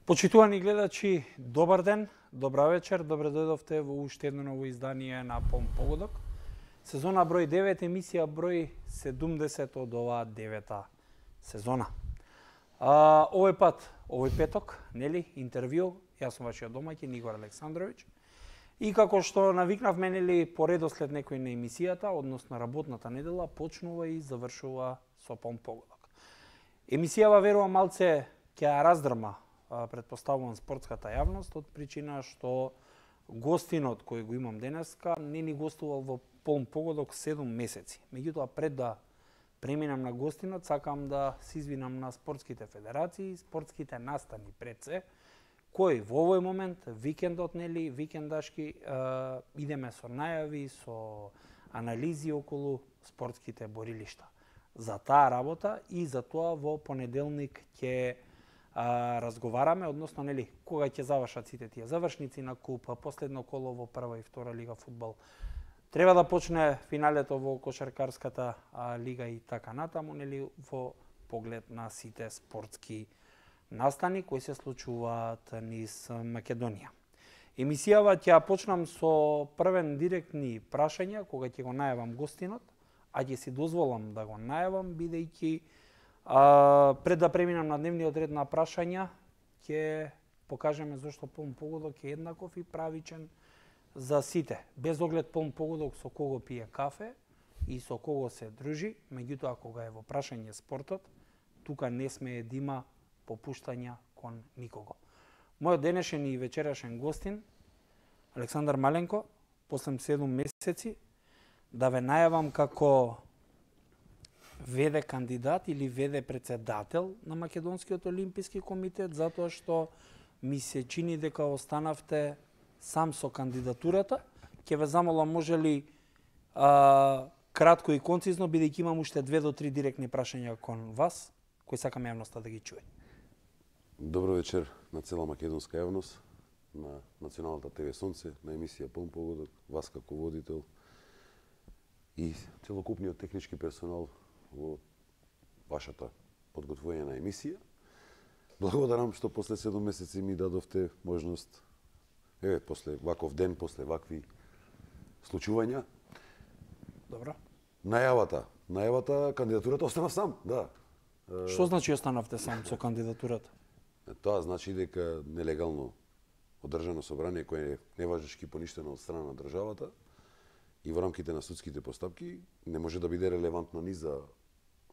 Почитувани гледачи, добар ден, добра вечер, добре дојдовте во уште едно ново издание на Полн погодок. Сезона број 9, емисија број 70 од оваа 9-та сезона. Овој пат, овој петок, нели, интервју, јас сум вашиот домаќин Игор Александровиќ. И како што навикнавме, нели, по редослед некој на емисијата, односно работната недела, почнува и завршува со Полн погодок. Емисијава, верувам, малце ќе ја раздрма, предпоставувам, спортската јавност, од причина што гостинот кој го имам денеска не ни гостувал во Полн погодок 7 месеци. Меѓутоа, пред да преминам на гостинот, сакам да се извинам на спортските федерации, спортските настани пред се, кои во овој момент, викендот, нели, викендашки, идеме со најави, со анализи околу спортските борилишта. За таа работа и за тоа во понеделник ќе разговараме, односно, нели, кога ќе завршат сите тие завршници на куп, последно коло во прва и втора лига фудбал. Треба да почне финалето во кошаркарската лига и така натаму, нели, во поглед на сите спортски настани кои се случуваат низ Македонија. Емисијава ќе ја почнам со првен директни прашања, кога ќе го најавам гостинот, а ќе си дозволам да го најавам, бидејќи пред да преминам на дневниот ред на прашања, ќе покажеме зашто Полн погодок е еднаков и правичен за сите. Без оглед Полн погодок со кого пие кафе и со кого се дружи, меѓутоа кога е во прашање спортот, тука не смее да има попуштања кон никого. Мојот денешен и вечерашен гостин, Александар Маленко, после 7 месеци, да ве најавам како веде кандидат или веде председател на Македонскиот олимписки комитет, затоа што ми се чини дека останавте сам со кандидатурата. Ќе ве замолам, може ли кратко и концизно, бидејќи имам уште 2 до 3 директни прашања кон вас, кои сакам јавноста да ги чуе. Добро вечер на цела македонска јавност, на Националната ТВ Сонце, на емисија Полн погодок, вас како водител и целокупниот технички персонал во вашата подготвувања емисија. Благодарам што после 7 месеци ми дадовте можност, после ваков ден, после вакви случувања. Добро. Најавата, кандидатурата останав сам, да. Што значи останавте сам со кандидатурата? Тоа значи дека нелегално одржано собрание кое е неважешки поништено од страна на државата и во рамките на судските постапки не може да биде релевантно ни за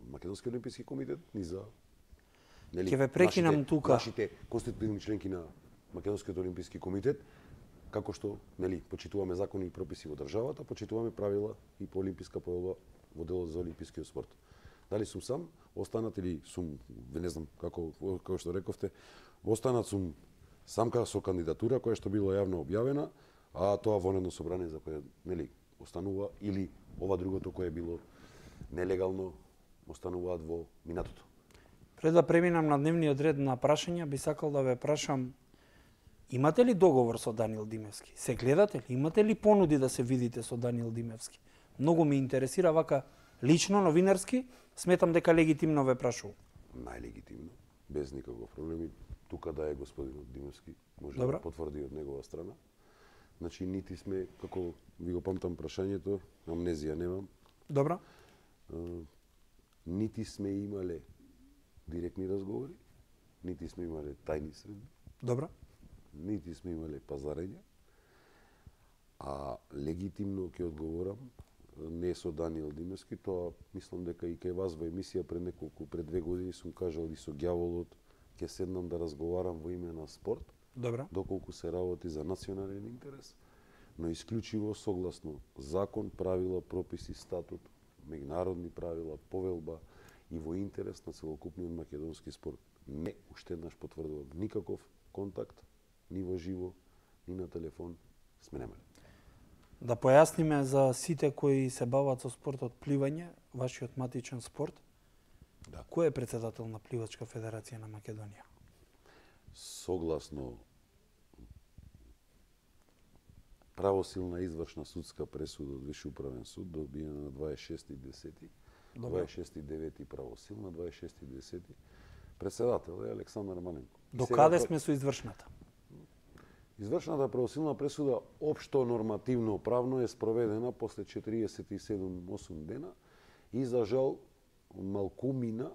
Македонски олимписки комитет, ни за Ќе ве прекинам тука. Нашите конститутивни членки на Македонскиот олимписки комитет, како што, нели, почитуваме закони и прописи во државата, почитуваме правила и по олимписка поелба во делот за олимпискиот спорт. Дали сум сам, останат или сум, не знам како што рековте, останат сум сам со кандидатура која што била јавно објавена, а тоа вонедно собрание за кое, нели, останува, или ова другото кое било нелегално остануваат во минатото. Пред да преминам на дневниот ред на прашања, би сакал да ве прашам, имате ли договор со Даниел Димевски? Се гледате ли? Имате ли понуди да се видите со Даниел Димевски? Многу ме интересира вака лично, новинарски, сметам дека легитимно ве прашувам. Најлегитимно, без никаков проблем. Тука да е господинот Димевски, може Добра. Да потврди од негова страна. Значи, нити сме, како ви го памтам прашањето, амнезија немам. Добра. Нити сме имале директни разговори, нити сме имале тајни средби. Добра. Нити сме имале пазарења. А легитимно ќе одговорам, не со Даниел Димевски, тоа мислам дека и кај вас во емисија пред 2 години сум кажал и со ѓаволот, ќе седнам да разговарам во име на спорт. Добра. Доколку се работи за национален интерес, но исклучиво согласно закон, правила, прописи, статут, меѓународни правила, повелба и во интерес на целокупниот македонски спорт. Не, уште еднаш потврдувам, никаков контакт, ни во живо, ни на телефон сме немали. Да појасниме за сите кои се бават со спортот пливање, вашиот матичен спорт. Да. Кој е председател на Пливачка федерација на Македонија? Согласно правосилна извршна судска пресуда од Виши управен суд, добиена на 26.10. 26.9. правосилна, 26.10. Председател е Александар Маленко. До каде сме со извршната? Извршната правосилна пресуда општо нормативно правно е спроведена после 47-8 дена и за жал малкумина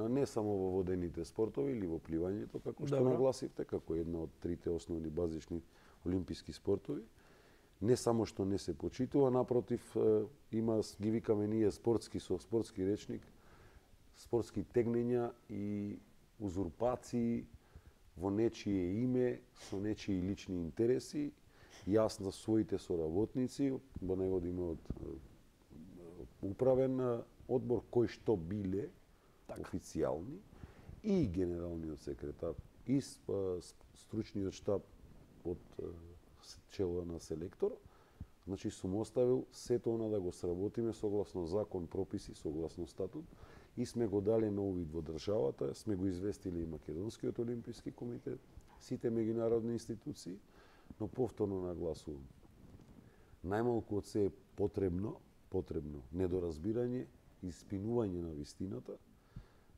не само во водените спортови или во пливањето, како што нагласивте, како една од трите основни базични олимписки спортови, не само што не се почитува, напротив, има, ги викаме ние спортски со спортски речник, спортски тегнења и узурпации во нечие име, со нечии лични интереси, јас за своите соработници, во него да има од управен одбор кој што биле официјални и генералниот секретар и стручниот штаб од чело на селектор, значи сум оставил сето она да го сработиме согласно закон, прописи, согласно статут и сме го дали на увид во државата, сме го известили и Македонскиот олимписки комитет, сите меѓународни институции, но повторно нагласувам. Најмалку од се е потребно недоразбирање и спинување на вистината,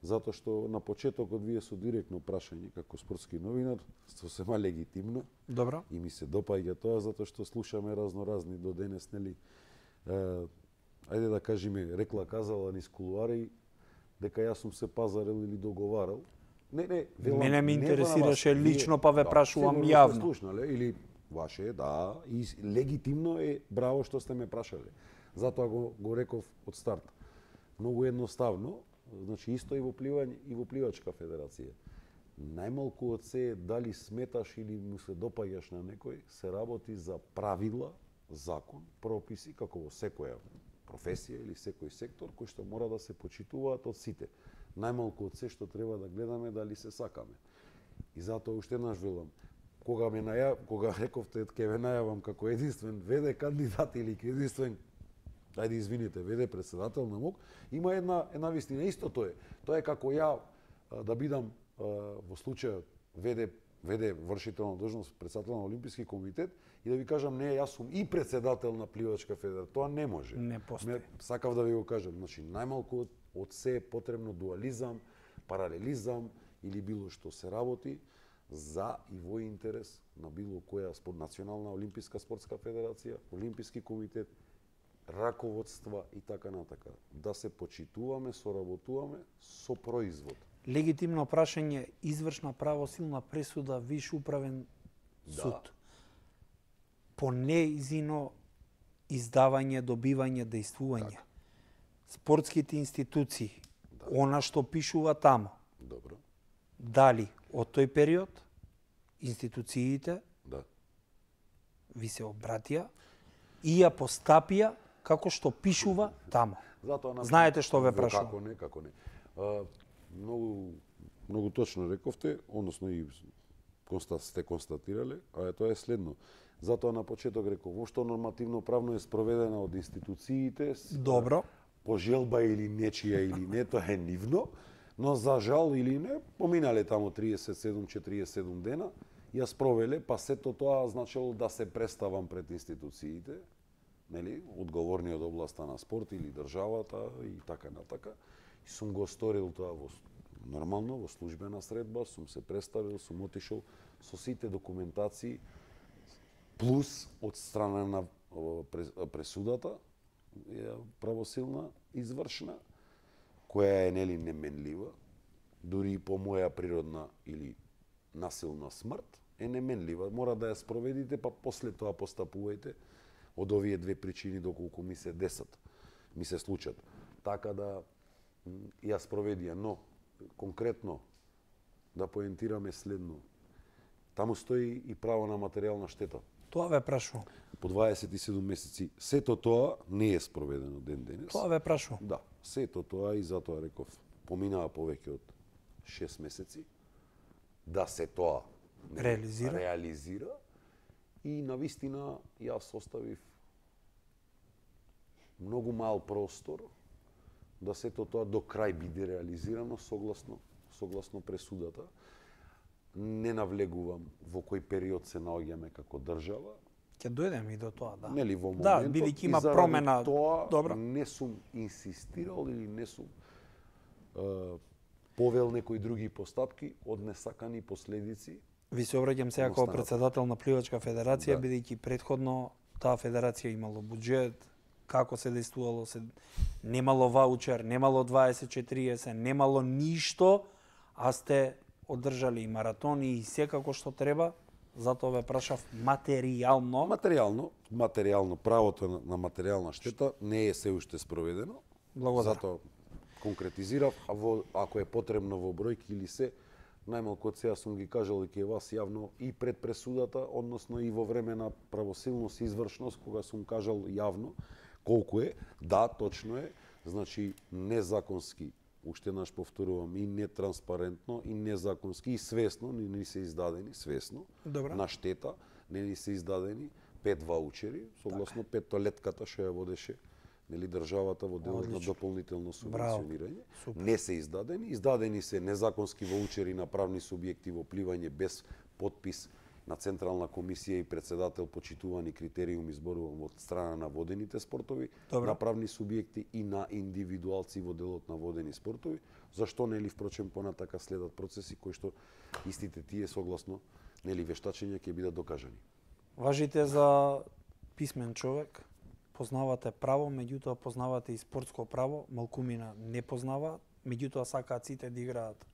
затоа што на почетокот вие со директно прашање како спортски новинар, сосема легитимно. Добро. И ми се допаѓа тоа затоа што слушаме разноразни до денес, нели, ајде да кажеме, рекла казала низ кулуари дека јас сум се пазарел или договарал. Не, мене ме интересираше лично, па ве прашувам јавно. Слушнале, или ваше, да, и легитимно е, браво што сте ме прашале. Затоа го реков од старт. Многу едноставно, значи исто и во пливање и во пливачка федерација. Најмалку од се е дали сметаш или му се допаѓаш на некој, се работи за правила, закон, прописи, како во секоја професија или секој сектор, кој што мора да се почитуваат од сите. Најмалку од се што треба да гледаме дали се сакаме. И затоа уште еднаш велам, кога рековте ќе ве најавам како единствен ВД кандидат или единствен, ајде извините, ВД председател на МОК, има една вистина. Исто тоа е. Тоа е како ја да бидам во случајот ВД вршител на должност председател на Олимписки комитет и да ви кажам не, јас сум и председател на пливачка федерација. Тоа не може. Не постои. Сакав да ви го кажам, значи најмалку од се е потребно дуализам, паралелизам или било што се работи за и во интерес на било која национална олимписка спортска федерација, Олимписки комитет, раководства и така натака. Да се почитуваме, соработуваме со производ. Легитимно прашање, извршна правосилна пресуда, виш управен суд. По неизино издавање, добивање, дејствување. Спортските институции, она што пишува тамо. Добро. Дали од тој период институциите ви се обратија и ја постапија како што пишува тамо. Знаете што ве прашувам? Како не. Многу точно рековте, односно и сте констатирале, а тоа е следно. Затоа на почеток реков, воопшто нормативно правно е спроведена од институциите. Добро. По желба или нечија или не, тоа е нивно, но за жал или не, поминале тамо 37-47 дена, ја спровеле, па сето тоа значило да се представам пред институциите, нели, одговорни од областа на спорт или државата и така натака. И сум го сторил тоа нормално, во службена средба, сум се представил, сум отишол со сите документации, плюс од страна на пресудата, правосилна, извршна, која е нели неменлива, дури и по моја природна или насилна смрт, е неменлива. Мора да ја спроведите, па после тоа постапувајте од овие две причини доколку ми се десат, ми се случат. Така да ја спроведија, но конкретно да поентираме следно. Таму стои и право на материјална штета. Тоа ве прашувам. По 27 месеци. Сето тоа не е спроведено ден денес. Тоа ве прашувам. Да, сето тоа и затоа реков, поминаа повеќе од 6 месеци да се тоа реализира и навистина јас оставив многу мал простор да сето тоа до крај биде реализирано согласно пресудата. Не навлегувам во кој период се наоѓаме како држава. Ќе дојдеме и до тоа, да. Нели во моментот. Да, бидејќи има промена. Тоа Добро. не сум инсистирал или не сум повел некои други постапки од несакани последици. Ви се обраќам сега како председател на Пливачка федерација, Да. бидејќи претходно таа федерација имало буџет, како се действувало, немало ваучер, немало 20-40, немало ништо, а сте одржали и маратони и секако што треба, затоа ве прашав материјално. Материјално правото на материјална штета не е се уште спроведено. Благодарам. Затоа конкретизирав, ако е потребно во бројки или се, најмалку од сега сум ги кажал и ке вас јавно и пред пресудата, односно и во време на правосилност и извршност, кога сум кажал јавно колку е. Да, точно е, значи незаконски, уште еднаш повторувам, и нетранспарентно, и незаконски, и свесно, не ни се издадени, свесно, Добра. на штета, не ни се издадени 5 ваучери, согласно петтолетката што ја водеше државата во делот на дополнително субвенционирање. Не се издадени се незаконски ваучери на правни субјекти во пливање без подпис на Централна комисија и председател почитувани критериуми, зборувам од страна на водените спортови, Добро. на правни субјекти и на индивидуалци во делот на водени спортови. Зашто нели впрочем понатака следат процеси кои што истите тие согласно вештачење ќе бидат докажани. Важите за писмен човек, познавате право, меѓутоа познавате и спортско право, малкумина не познаваат, меѓутоа сакаат сите да играат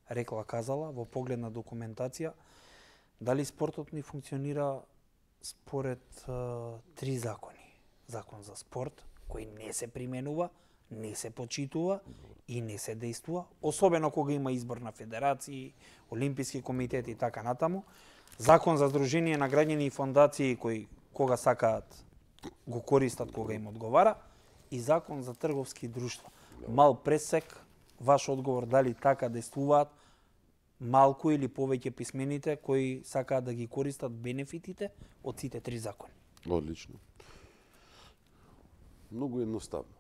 рекла казала во поглед на документација. Дали спортот ни функционира според 3 закони? Закон за спорт, кој не се применува, не се почитува и не се действува, особено кога има избор на федерации, олимписки комитет и така натаму. Закон за здружение на граѓани и фондации кои кога сакаат го користат кога им одговара и закон за трговски друштва. Мал пресек, ваш одговор дали така действуваат малку или повеќе писмените кои сакаат да ги користат бенефитите од сите 3 закони. Одлично. Многу едноставно.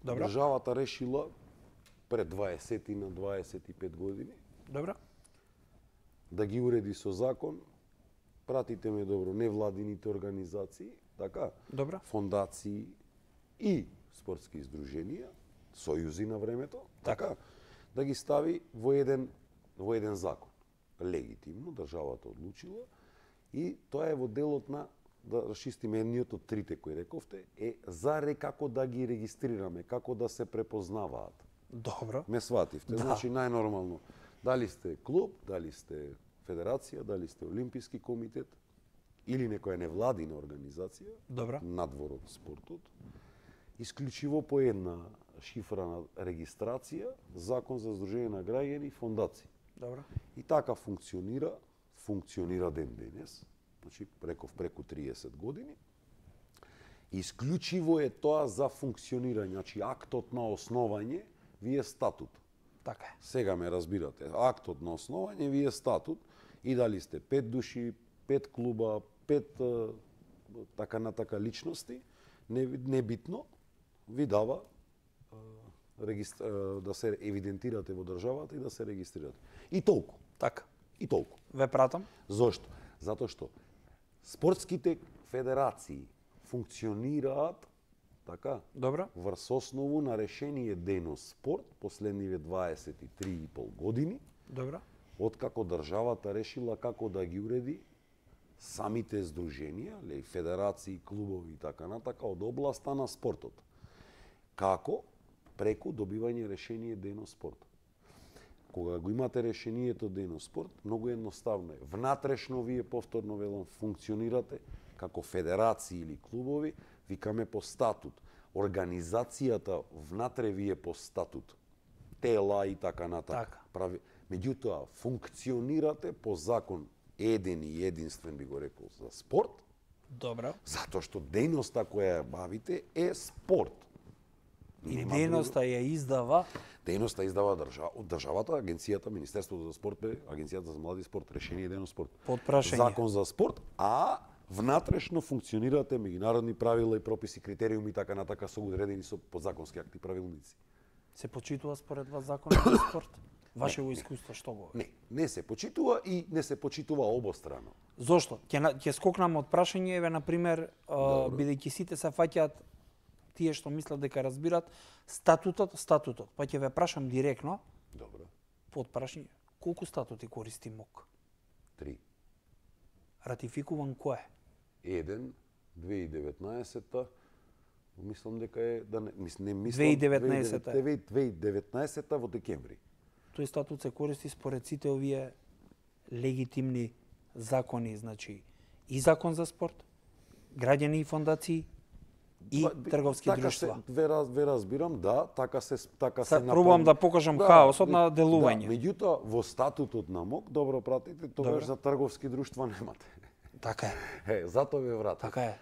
Добро. Државата решила пред 20 на 25 години Добро? да ги уреди со закон, пратите ме добро, невладините организации, така, Добро. фондации и спортски издруженија, сојузи на времето, така, да ги стави во еден закон. Легитимно, државата одлучила и тоа е во делот на, да расчистиме едниот од трите кои рековте, е како да ги регистрираме, како да се препознаваат. Добро. Ме свативте. Да. Значи, најнормално, дали сте клуб, дали сте федерација, дали сте олимписки комитет или некоја невладина организација, Добро. надвор од спортот, исклучиво по една шифра на регистрација, закон за здружение на граѓани и фондации. Добро. И така функционира ден денес, значи преку 30 години. Исклучиво е тоа за функционирање, значи актот на основање ви е статут. Така е. Сега ме разбирате, актот на основање ви е статут и дали сте 5 души, 5 клуба, 5 така натака личности, небитно ви дава да се евидентирате во државата и да се регистрирате. И толку. Така. И толку. Ве пратам. Зошто? Затоа што спортските федерации функционираат така Добро. врз основу на решение Денос спорт последниве 23,5 години, Добро. откако државата решила како да ги уреди самите здруженија, федерации, клубови и така натака од областа на спортот. Како? Преку добивање решение Денос спорт. Кога го имате решението Денос спорт, многу едноставно е. Внатрешно вие повторно велам функционирате како федерации или клубови, викаме по статут. Организацијата внатре вие по статут. Тела и така натака. Така. Меѓутоа, функционирате по закон еден и единствен, би го рекол, за спорт, Добро. затоа што дејноста која ја бавите е спорт. И дејноста ја издава Дејноста издава државата, агенцијата, Министерството за спорт, агенцијата за млади спорт, решение Денос спорт. Под прашање. Закон за спорт, а внатрешно функционирате меѓународни правила и прописи, критериуми и така натака со одредени со подзаконски акти, правилници. се почитува според вас законот за спорт? Вашево искуство што го? Не се почитува и не се почитува обострано. Зошто? Ќе скокнам од прашање, еве на пример, бидејќи сите се фаќаат тие што мислат дека разбират статутот. Па ќе ве прашам директно. Добро. Потпрашање, колку статути користи МОК? 3. Ратификуван кој е? 1, 2019-та, мислам дека е, да не, мислам, 2019-та. 2019-та во декември. Тој статут се користи според сите овие легитимни закони, значи и закон за спорт, граѓани и фондации и трговски така друштва. Ве разбирам, да, така се Sad пробувам да покажам хаосот на делување. Да, меѓутоа во статутот на МОК, добро пратите, тогаш за трговски друштва немате. Така е. Затоа ве вратам. Така е.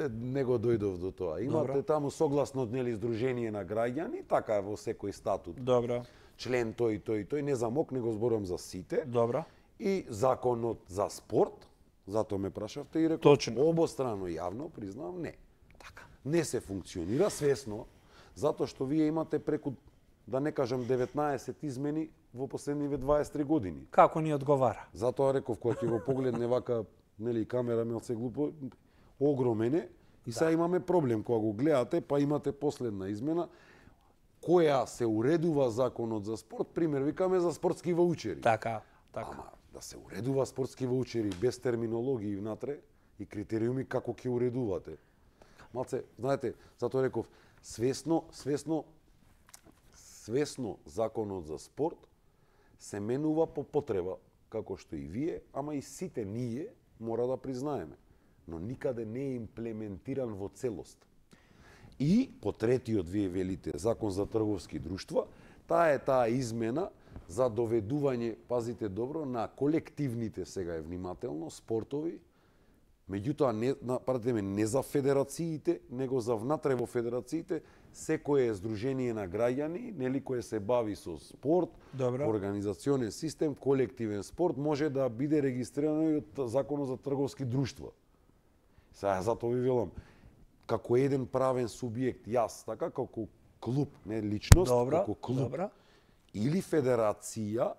Не го дојдов до тоа. Имате Добро. таму согласно нели здружение на граѓани, така е во секој статут. Добро. Член тој, не за МОК, него зборувам за сите. Добро. И законот за спорт, затоа ме прашавте и реков, Точно. обострано јавно признавам не. Така. Не се функционира свесно, затоа што вие имате преку, да не кажам 19 измени во последниве 23 години. Како ни одговара? Затоа реков, кога ќе го погледне вака, нели, камера мелце глупо, огромен е, и сега имаме проблем. Кога го гледате, па имате последна измена, која се уредува законот за спорт, пример, викаме за спортски ваучери. Така. Ама да се уредува спортски ваучери без терминологии внатре и критериуми како ќе уредувате. Малце, знаете, затоа реков, свесно законот за спорт се менува по потреба, како што и вие, ама и сите ние мора да признаеме. Но никаде не е имплементиран во целост. И по третиот, вие велите, закон за трговски друштва, таа измена за доведување, пазите добро, на колективните, сега е внимателно, спортови, меѓутоа не за федерациите, него за внатре во федерациите, секое здружение на граѓани, нели, кое се бави со спорт, Добро. организационен систем, колективен спорт, може да биде регистрирано и од законот за трговски друштва. Сега затоа ви велам, како еден правен субјект, јас, така, како клуб, не личност, Добро. како клуб, Добро. или федерација,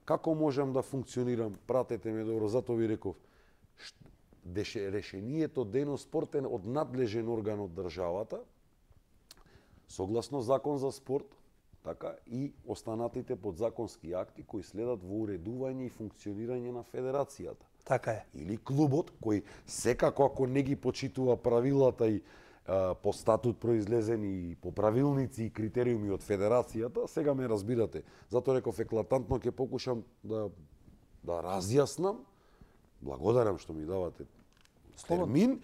како можам да функционирам, пратете ме добро, затоа ви реков, решението дено спортен од надлежен орган од државата, согласно закон за спорт, така, и останатите подзаконски акти кои следат во уредување и функционирање на федерацијата. Така е. Или клубот, кој секако ако не ги почитува правилата и по статут произлезени и по правилници и критериуми од федерацијата, сега ме разбирате. Затоа реков еклатантно ќе покушам да разјаснам. Благодарам што ми давате термин.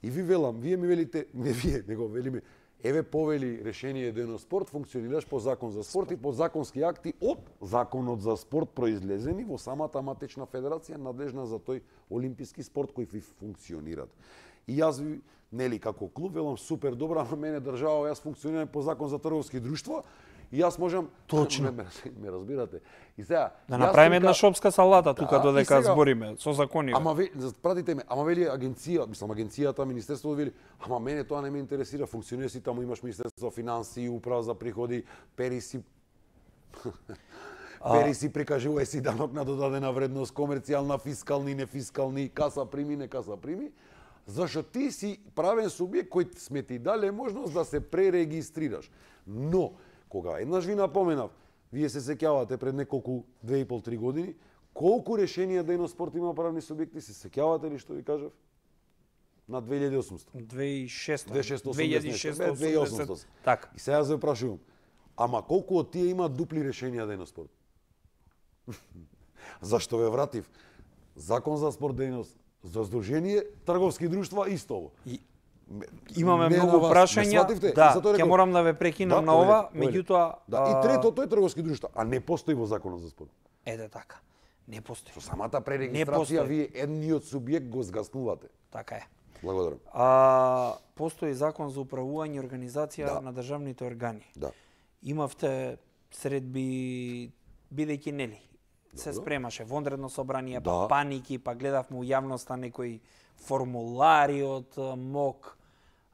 И ви велам, вие ми велите, не вие, него велиме, еве повели решение дено спорт, функционираш по закон за спорт и по законски акти од законот за спорт произлезени во самата матична федерација надлежна за тој олимписки спорт кој ви функционират. И јас ви, нели, како клуб, велам супер добро, ама мене држава, јас функционирам по закон за трговски друштва и јас можам... Точно. Ме разбирате. И сега... Да направиме една шопска салата тука Да, додека и сега- збориме со закони. Ама пратите ме, ама вели агенцијата, министерството вели, ама мене тоа не ме интересира, функционира си таму, имаш министерство за финансии, управа за приходи, пери си прикажувај си данок на додадена вредност, комерцијална, фискални, нефискални, каса прими, не каса прими, зашто ти си правен субјект кој сме ти дале можност да се пререгистрираш. Но, кога еднаш ви напоменав, вие се сеќавате пред неколку 2,5-3 години, колку решенија дено спорт има правни субјекти, се сеќавате ли што ви кажав? На 2800. 2680. Така. И сега се прашувам, ама колку од тие имаат дупли решенија дено спорт? Зашто ве вратив? Закон за спорт дейност, за здружение, трговски друштва исто ово. Имаме Не на многу вас, прашања. ме свативте? Да, Затоа ќе реков- морам да ве прекинам Да, на ова, повелете. меѓутоа... Да, и трето, тој е трговски друштва, а не постои во законот за спорт. Ете така. Не постои. Со самата Не пререгистрација постои. вие едниот субјект го згаснувате. Така е. Благодарам. Постои закон за управување и организација Да. на државните органи. Да. Имавте средби, бидејќи нели, се Добро. спремаше вонредно собрание, Да. па паники, па гледавме у јавноста некои формулари од МОК,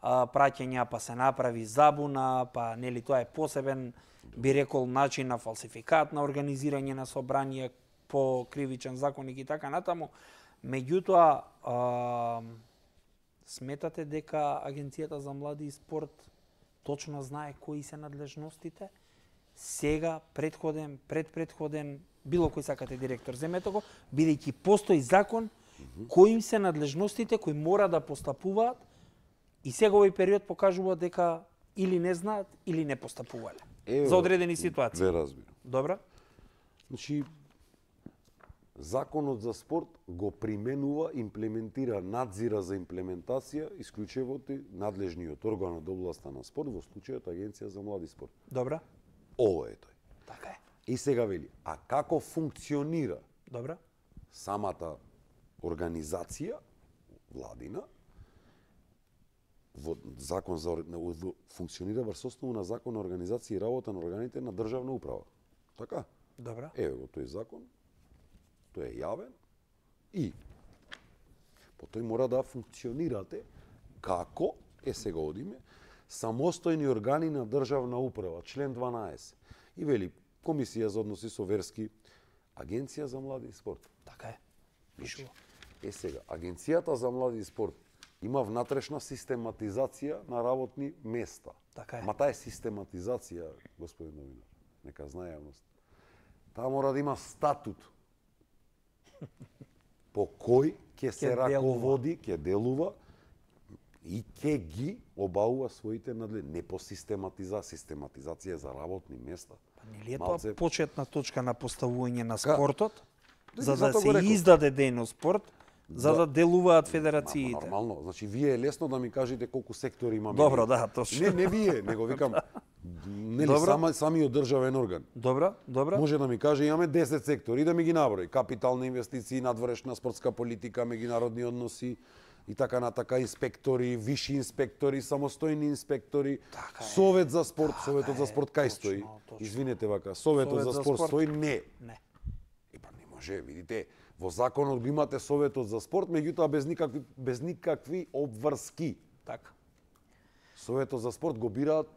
праќања, па се направи забуна, па нели тоа е посебен, би рекол, начин на фалсификат на организирање на собрание по кривичен законник и така натаму. Меѓутоа, сметате дека Агенцијата за млади и спорт точно знае кои се надлежностите? сега, предходен, предпредходен, било кој сакате директор, земете го, бидејќи постои закон кои им се надлежностите кои мора да постапуваат и сега овој период покажува дека или не знаат или не постапувале за одредени ситуации. Ве разбирам. Добра? Значи, Законот за спорт го применува, имплементира, надзира за имплементација исклучевото надлежниот орган од областа на спорт, во случајот Агенција за млади спорт. Добра? Ово е тој. Така е. И сега вели, а како функционира Добра? самата организација владина во закон за функционира врз основа на закон на организација и работа на органите на државна управа. Така? Добра? Еве го тој закон. Тој е јавен и по тој мора да функционирате како сега одиме самостојни органи на државна управа, член 12. И вели Комисија за односи со верски, Агенција за млади и спорт. Така е. Пишува. Сега, Агенцијата за млади и спорт има внатрешна систематизација на работни места. Така е. Ма таа е систематизација, господин новинар, нека знае јавност. Таа мора да има статут по кој ќе се раководи, ќе делува и ќе ги обаува своите надлежности. Не по систематизација за работни места. Па нели е тоа почетна точка на поставување на Ка? спортот? За да Затоа се го реков. издаде дејно спорт, за да делуваат федерациите. Нормално, значи вие е лесно да ми кажете колку сектори имаме. Добро, да, точно. Не вие, него викам. Нели Добро. самиот државен орган. Добра, добра. Може да ми каже имаме 10 сектори, да ми ги наброи. Капитални инвестиции, надворешна спортска политика, меѓународни односи и така натака, инспектори, виши инспектори, самостојни инспектори, Така е. Совет за спорт, Така Советот за е, спорт кај точно, стои? точно. Извинете вака, Советот Совет за за спорт спорт. стои? Не. Не. Па не може, видите, во законот го имате Советот за спорт, меѓутоа без никакви обврски. Така. Советот за спорт го бираат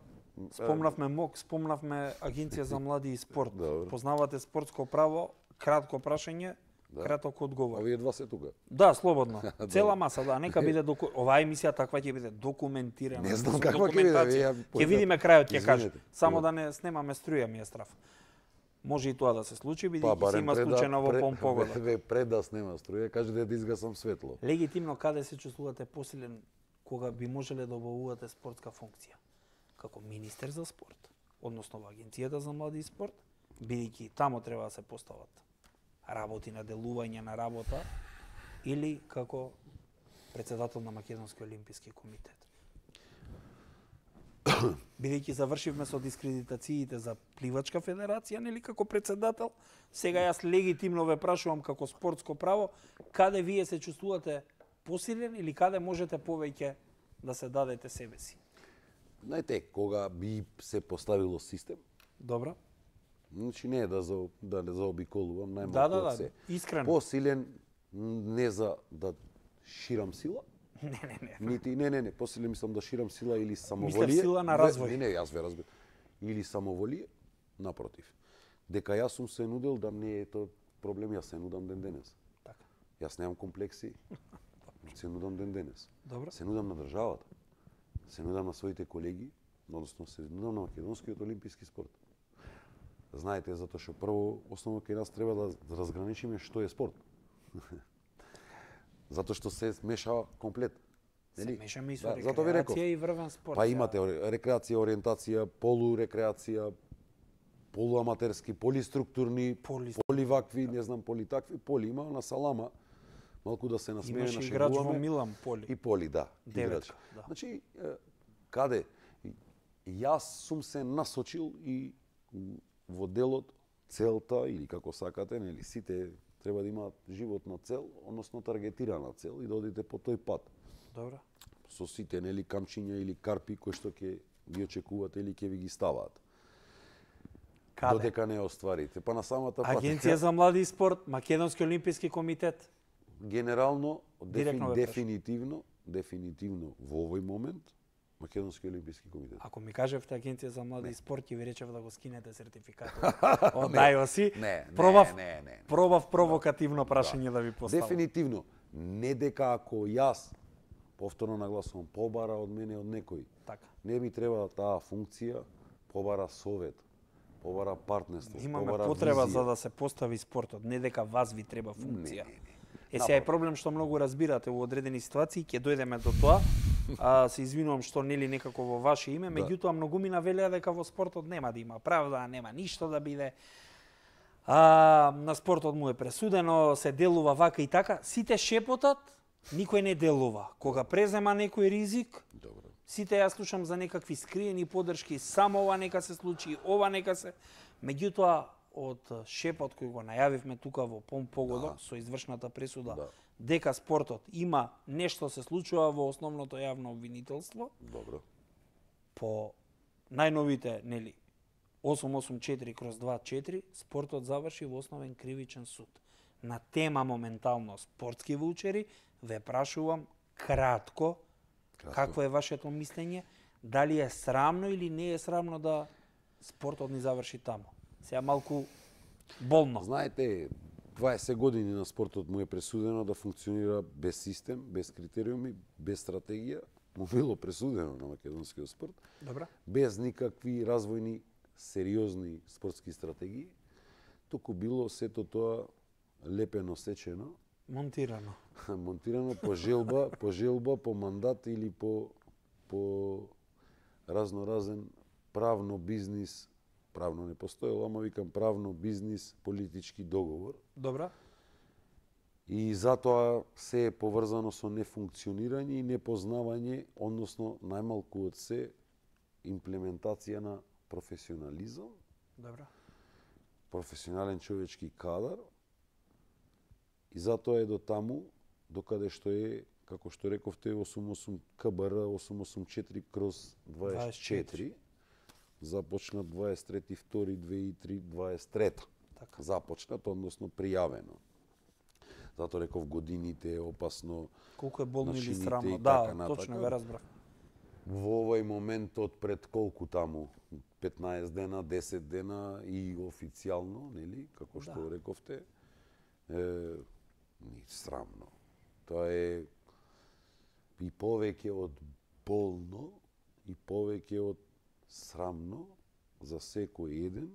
Спомнавме МОК, спомнавме Агенција за млади и спорт. Добро. Познавате спортско право, кратко прашање, краток одговор. овие два се тука. Да, слободно. Цела маса, да, нека биде оваа емисија таква ќе биде документирана. Не знам со каква ќе биде, документација. ја Ќе видиме крајот, ќе кажа. Извинете. Само да не снемаме струја ми е страф. Може и тоа да се случи, Па бидејќи се има случајно во помпогода. Пред да снема струја, кажете да изгасам светло. Легитимно каде се чувствувате посилен кога би можеле да обавувате спортска функција? Како министер за спорт, односно во Агенцијата за млади и спорт, бидејќи тамо треба да се постават работи на делување на работа, или како председател на Македонски олимписки комитет. Бидејќи завршивме со дискредитациите за пливачка федерација, нели како председател, сега јас легитимно ве прашувам како спортско право, каде вие се чувствувате посилен или каде можете повеќе да се дадете себе си? Знаете, кога би се поставило систем, Добро? значи не е да не заобиколувам, најмалку Да, се. искрено. Посилен не за да ширам сила, Не. нити не, посилен мислам да ширам сила или самоволие. Мислев сила на развој. Не, јас ве разбирам. Или самоволие, напротив. Дека јас сум се нудел да не е тоа проблем, јас се нудам ден денес. Така. Јас немам комплекси. Се нудам ден денес. Добро. Се нудам на државата. Се нудам на своите колеги, односно се нудам на македонскиот олимписки спорт. Знаете, затоа што прво основно кај нас треба да разграничиме што е спорт. Затоа што се мешава комплет. Се Нели? мешаме и со затоа ви реков. рекреација и врвен спорт. Па имате рекреација, ориентација, полурекреација, полуаматерски, полиструктурни, поливакви, не знам, политакви, поли има на салама. Малку да се насмееме, Имаше играч во нашегуваме. Милан, Поли. И Поли, да. Деветка, играч. да. Значи, каде? Јас сум се насочил и во делот целта, или како сакате, нели, сите треба да имаат животна цел, односно таргетирана цел и да одите по тој пат. Добро. Со сите, нели, камчиња или карпи кои што ќе ги очекувате или ќе ви ги ставаат. Каде? Додека не остварите. Па на самата пат. Агенција за млади и спорт, Македонски олимписки комитет. Генерално, Директно ве прашам. дефинитивно во овој момент, Македонски олимписки комитет. Ако ми кажевте Агенција за млади и спорт, ќе ви речев да го скинете сертификатот. Од ДАЙОСи. Пробав провокативно прашање да ви поставам. Дефинитивно. Не дека ако јас, повторно нагласувам, побара од мене од некој, Така. не ми треба таа функција, побара совет, побара партнерство, Имаме побара потреба визија. за да се постави спортот, не дека вас ви треба функција. Не. Сега е проблем што многу разбирате во одредени ситуации, ќе дојдеме до тоа. Се извинувам што нели некако во ваше име, меѓутоа многумина велеа дека во спортот нема да има правда, нема ништо да биде. На спортот му е пресудено, се делува вака и така. Сите шепотат, никој не делува. Кога презема некој ризик, Добро. сите ја слушам за некакви скриени подршки, само ова нека се случи, ова нека се. Меѓутоа, од шепот кој го најавивме тука во погодок со извршната пресуда, дека спортот има нешто се случува во основното јавно обвинителство, Добро. по најновите, нели, 884/24, спортот заврши во основен кривичен суд. На тема моментално спортски ваучери, ве прашувам кратко, какво е вашето мислење, дали е срамно или не е срамно да спортот ни заврши таму. Сега малку болно. Знаете, 20 години на спортот му е пресудено да функционира без систем, без критериуми, без стратегија. Му било пресудено на македонскиот спорт. Добра. Без никакви развојни, сериозни спортски стратегии. Туку било сето тоа лепено сечено, монтирано по желба, по мандат или по разноразен правно бизнис, правно не постоело, ама викам правно бизнис, политички договор. Добра. И затоа се е поврзано со нефункционирање и непознавање, односно најмалку од се имплементација на професионализам, Добра. професионален човечки кадар. И затоа е до таму, докаде што е, како што рековте, 88 КБР 884/24, започнат 23.2.2003, Така. започнат, односно пријавено. Затоа реков годините е опасно. Колку е болно или начините срамно. и Да, така натака. точно ве разбрав. Во овој момент од пред колку таму? 15 дена, 10 дена и официјално, нели, како што рековте, ни срамно. Тоа е и повеќе од болно и повеќе од срамно за секој еден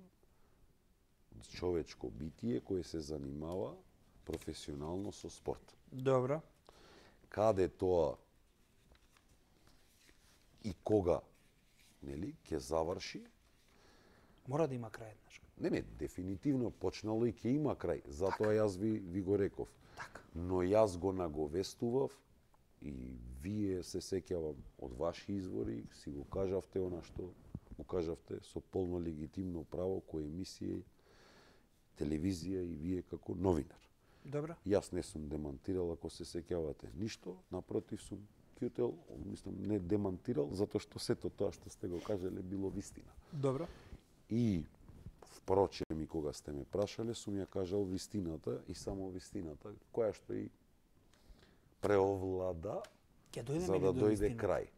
човечко битие кој се занимава професионално со спорт. Добра. Каде тоа и кога, нели, ќе заврши? Мора да има крај еднаш. Не, дефинитивно почнало и ќе има крај. Затоа јас ви го реков. Така. Но јас го наговестував и вие се сеќавам од ваши извори, си го кажавте она што го кажавте со полно легитимно право кој емисија, телевизија и вие како новинар. Добра. Јас не сум демантирал, ако се сеќавате, ништо, напротив сум кјутел, мислам, не демантирал, затоа што сето тоа што сте го кажале било вистина. Добра. И впрочем, и кога сте ме прашале, сум ја кажал вистината и само вистината, која што и преовлада за да дојде крај.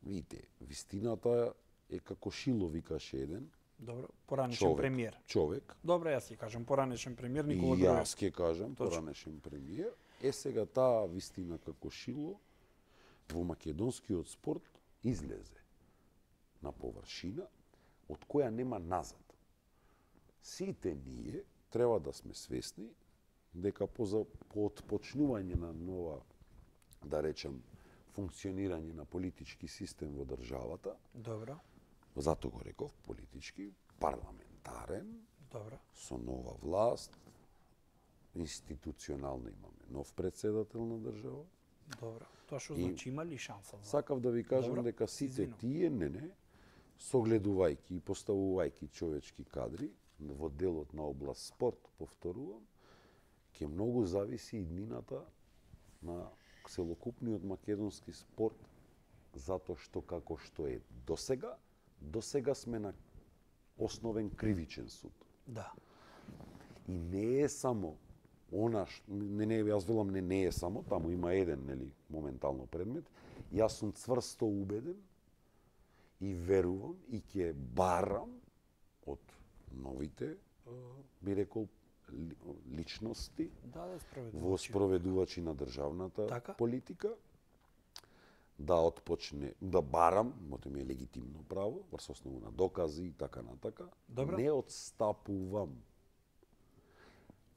Видите, вистината е како шило, викаше еден Добро, поранешен премиер. човек. Добро, јас ќе кажам поранешен премиер Никола И Груевски. јас ќе кажам поранешен премиер. Сега таа вистина како шило во македонскиот спорт излезе на површина од која нема назад. Сите ние треба да сме свесни дека по отпочнување на нова, да речем, функционирање на политички систем во државата, Добро. затоа го реков политички, парламентарен, Добро. со нова власт, институционално имаме нов председател на држава. Добро. Тоа што значи има ли шанса? Сакав да ви кажам дека сите тие, согледувајќи и поставувајќи човечки кадри во делот на област спорт, повторувам, ќе многу зависи и днината на целокупниот македонски спорт, затоа што како што е досега сме на основен кривичен суд. Да. И не е само јас велам не е само, таму има еден, нели, моментално предмет. Јас сум цврсто убеден и верувам и ќе барам од новите, би рекол, личности Да, во спроведувачи на државната Така. политика, да отпочне, да барам, мото ми е легитимно право, врз основа на докази и така натака, Добро. не отстапувам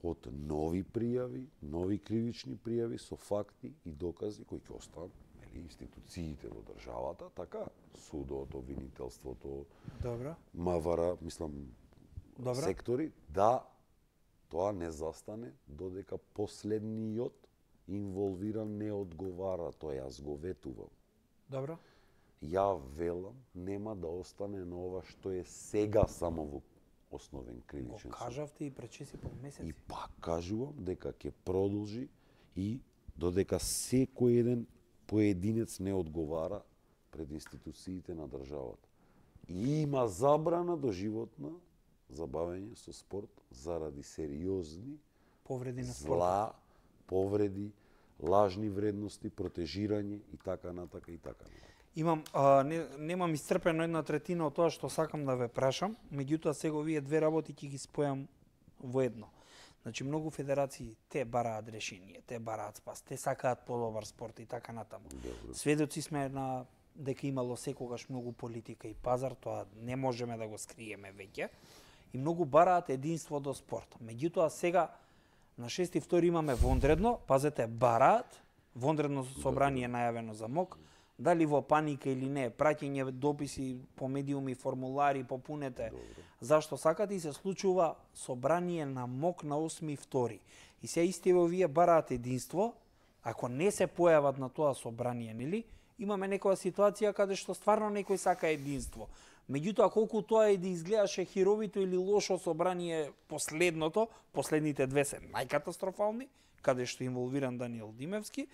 од нови пријави, нови кривични пријави со факти и докази кои ќе останат, нели, институциите во државата, така, судот, обвинителството, Добро. МВР, мислам, Добро. сектори, да тоа не застане додека последниот инволвиран не одговара, тоа јас го ветувам. Добро. Ја велам, нема да остане на ова што е сега само во основен кривичен Го суд. кажавте и пред 6,5 И месеци. пак кажувам дека ќе продолжи и додека секој еден поединец не одговара пред институциите на државата. И има забрана до животна забавење со спорт заради сериозни Повреди на спорт. зла, повреди, лажни вредности, протежирање и така натака и така натака. Имам, немам исцрпено 1/3 од тоа што сакам да ве прашам, меѓутоа сега овие две работи ќе ги спојам во едно. Значи, многу федерации те бараат решение, те бараат спас, те сакаат подобар спорт и така натаму. Добро. Сведоци сме на дека имало секогаш многу политика и пазар, тоа не можеме да го скриеме веќе. И многу бараат единство до спорт. Меѓутоа сега на 6.2 имаме вонредно, пазете, бараат, вонредно собрание најавено за МОК, дали во паника или не, праќање дописи по медиуми, формулари, попунете, зашто сакате и се случува собрание на МОК на 8.2. И се истиве овие бараат единство, ако не се појават на тоа собрание, нели, имаме некоја ситуација каде што стварно некој сака единство. Меѓутоа, колку тоа и да изгледаше херовито или лошо собрание последното, последните две се најкатастрофални, каде што е инволвиран Даниел Димевски,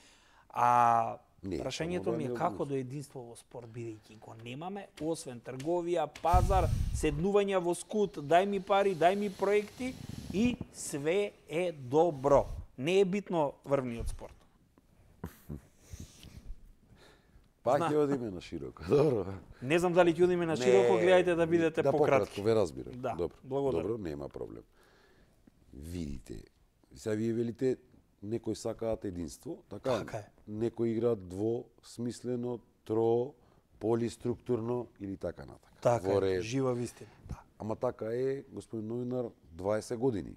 а Не, прашањето само ми е Даниел како до единство во спорт, бидејќи го немаме, освен трговија, пазар, седнување во скут, дај ми пари, дај ми проекти и све е добро. Не е битно врвниот спорт. Пак ќе одиме на широко. Добро. Не знам дали ќе одиме на широко, гледајте да бидете пократки. ве разбирам. Да, Добро. благодарам. Добро, нема проблем. Видите, сега вие велите некои сакаат единство, така? Така е. Некои играат двосмислено, полиструктурно или така натака. Така Во е, ред. жива вистина. Да. Ама така е, господин новинар, 20 години.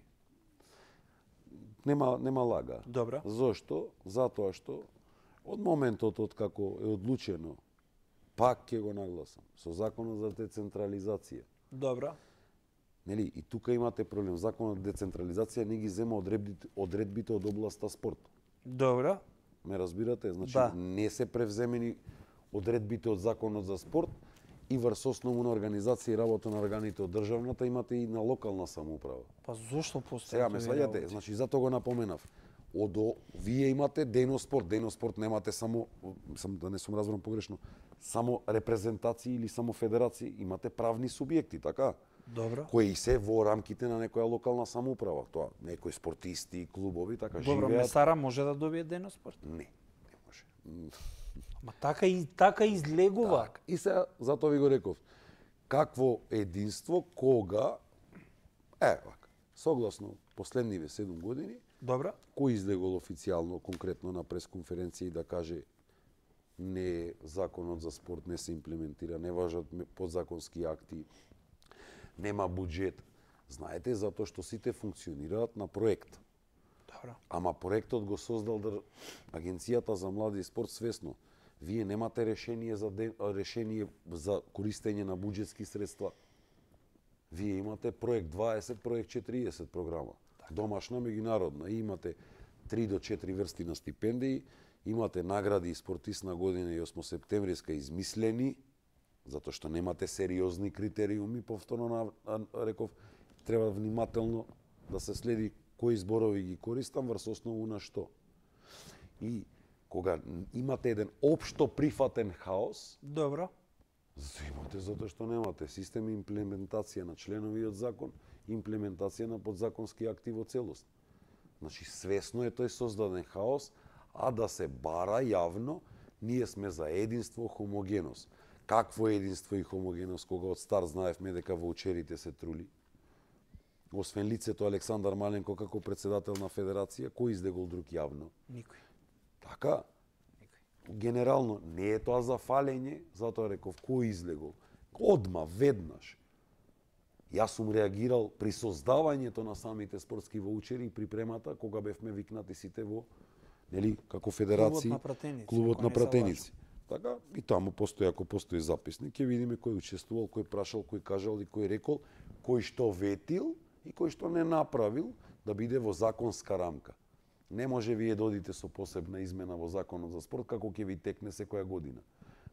Нема лага. Добро. Зошто? Затоа што од моментот од како е одлучено, пак ќе го нагласам, со законот за децентрализација. Добро. Нели, и тука имате проблем. Законот за децентрализација не ги зема одредбите од областа спорт. Добро. Ме разбирате? Значи, Да. не се превземени одредбите од законот за спорт и врз основа на организација и работа на органите од државната имате и на локална самоуправа. Па зошто постои? Сега ме сваѓате, значи затоа го напоменав. Вие имате деноспорт немате само да не сум разбран погрешно, само репрезентации или само федерации, имате правни субјекти, така? Добро. Кои се во рамките на некоја локална самоуправа, тоа некои спортисти, клубови, така Добро, живеат. Месара може да добие деноспорт. Не може. Ма така излегува. Так. И сега, затоа ви го реков, какво единство, кога, вака, согласно последниве 7 години, Добро. кој излегол официјално, конкретно на пресконференција и да каже не законот за спорт не се имплементира, не важат подзаконски акти, нема буџет. Знаете, затоа што сите функционираат на проект. Добро. Ама проектот го создал Агенцијата за млади и спорт свесно. Вие немате решение за користење на буџетски средства. Вие имате проект 20, проект 40 програма. Домашна, меѓународна. И имате 3 до 4 врсти на стипендии, имате награди и спортист на година и 8 септемвриска измислени, затоа што немате сериозни критериуми, повторно реков, треба внимателно да се следи кои зборови ги користам врз основу на што. И кога имате еден општо прифатен хаос, Добро. имате затоа што немате систем и имплементација на членови од закон, имплементација на подзаконски акти во целост. Значи, свесно е тој создаден хаос, а да се бара јавно, ние сме за единство, хомогеност. Какво единство и хомогеност, кога од стар знаевме дека ваучерите се трули? Освен лицето Александар Маленко како председател на федерација, кој излегол друг јавно? Никој. Така? Никој. генерално не е тоа за фалење, затоа реков кој излегол. Одма, веднаш. Јас сум реагирал при создавањето на самите спортски воучери и припремата кога бевме викнати сите во, нели, како федерации, клубот на пратеници. Така и таму постои, ако постои записник, ќе видиме кој учествувал, кој прашал, кој кажал и кој рекол, кој што ветил и кој што не направил да биде во законска рамка. Не може вие да одите со посебна измена во законот за спорт како ќе ви текне секоја година.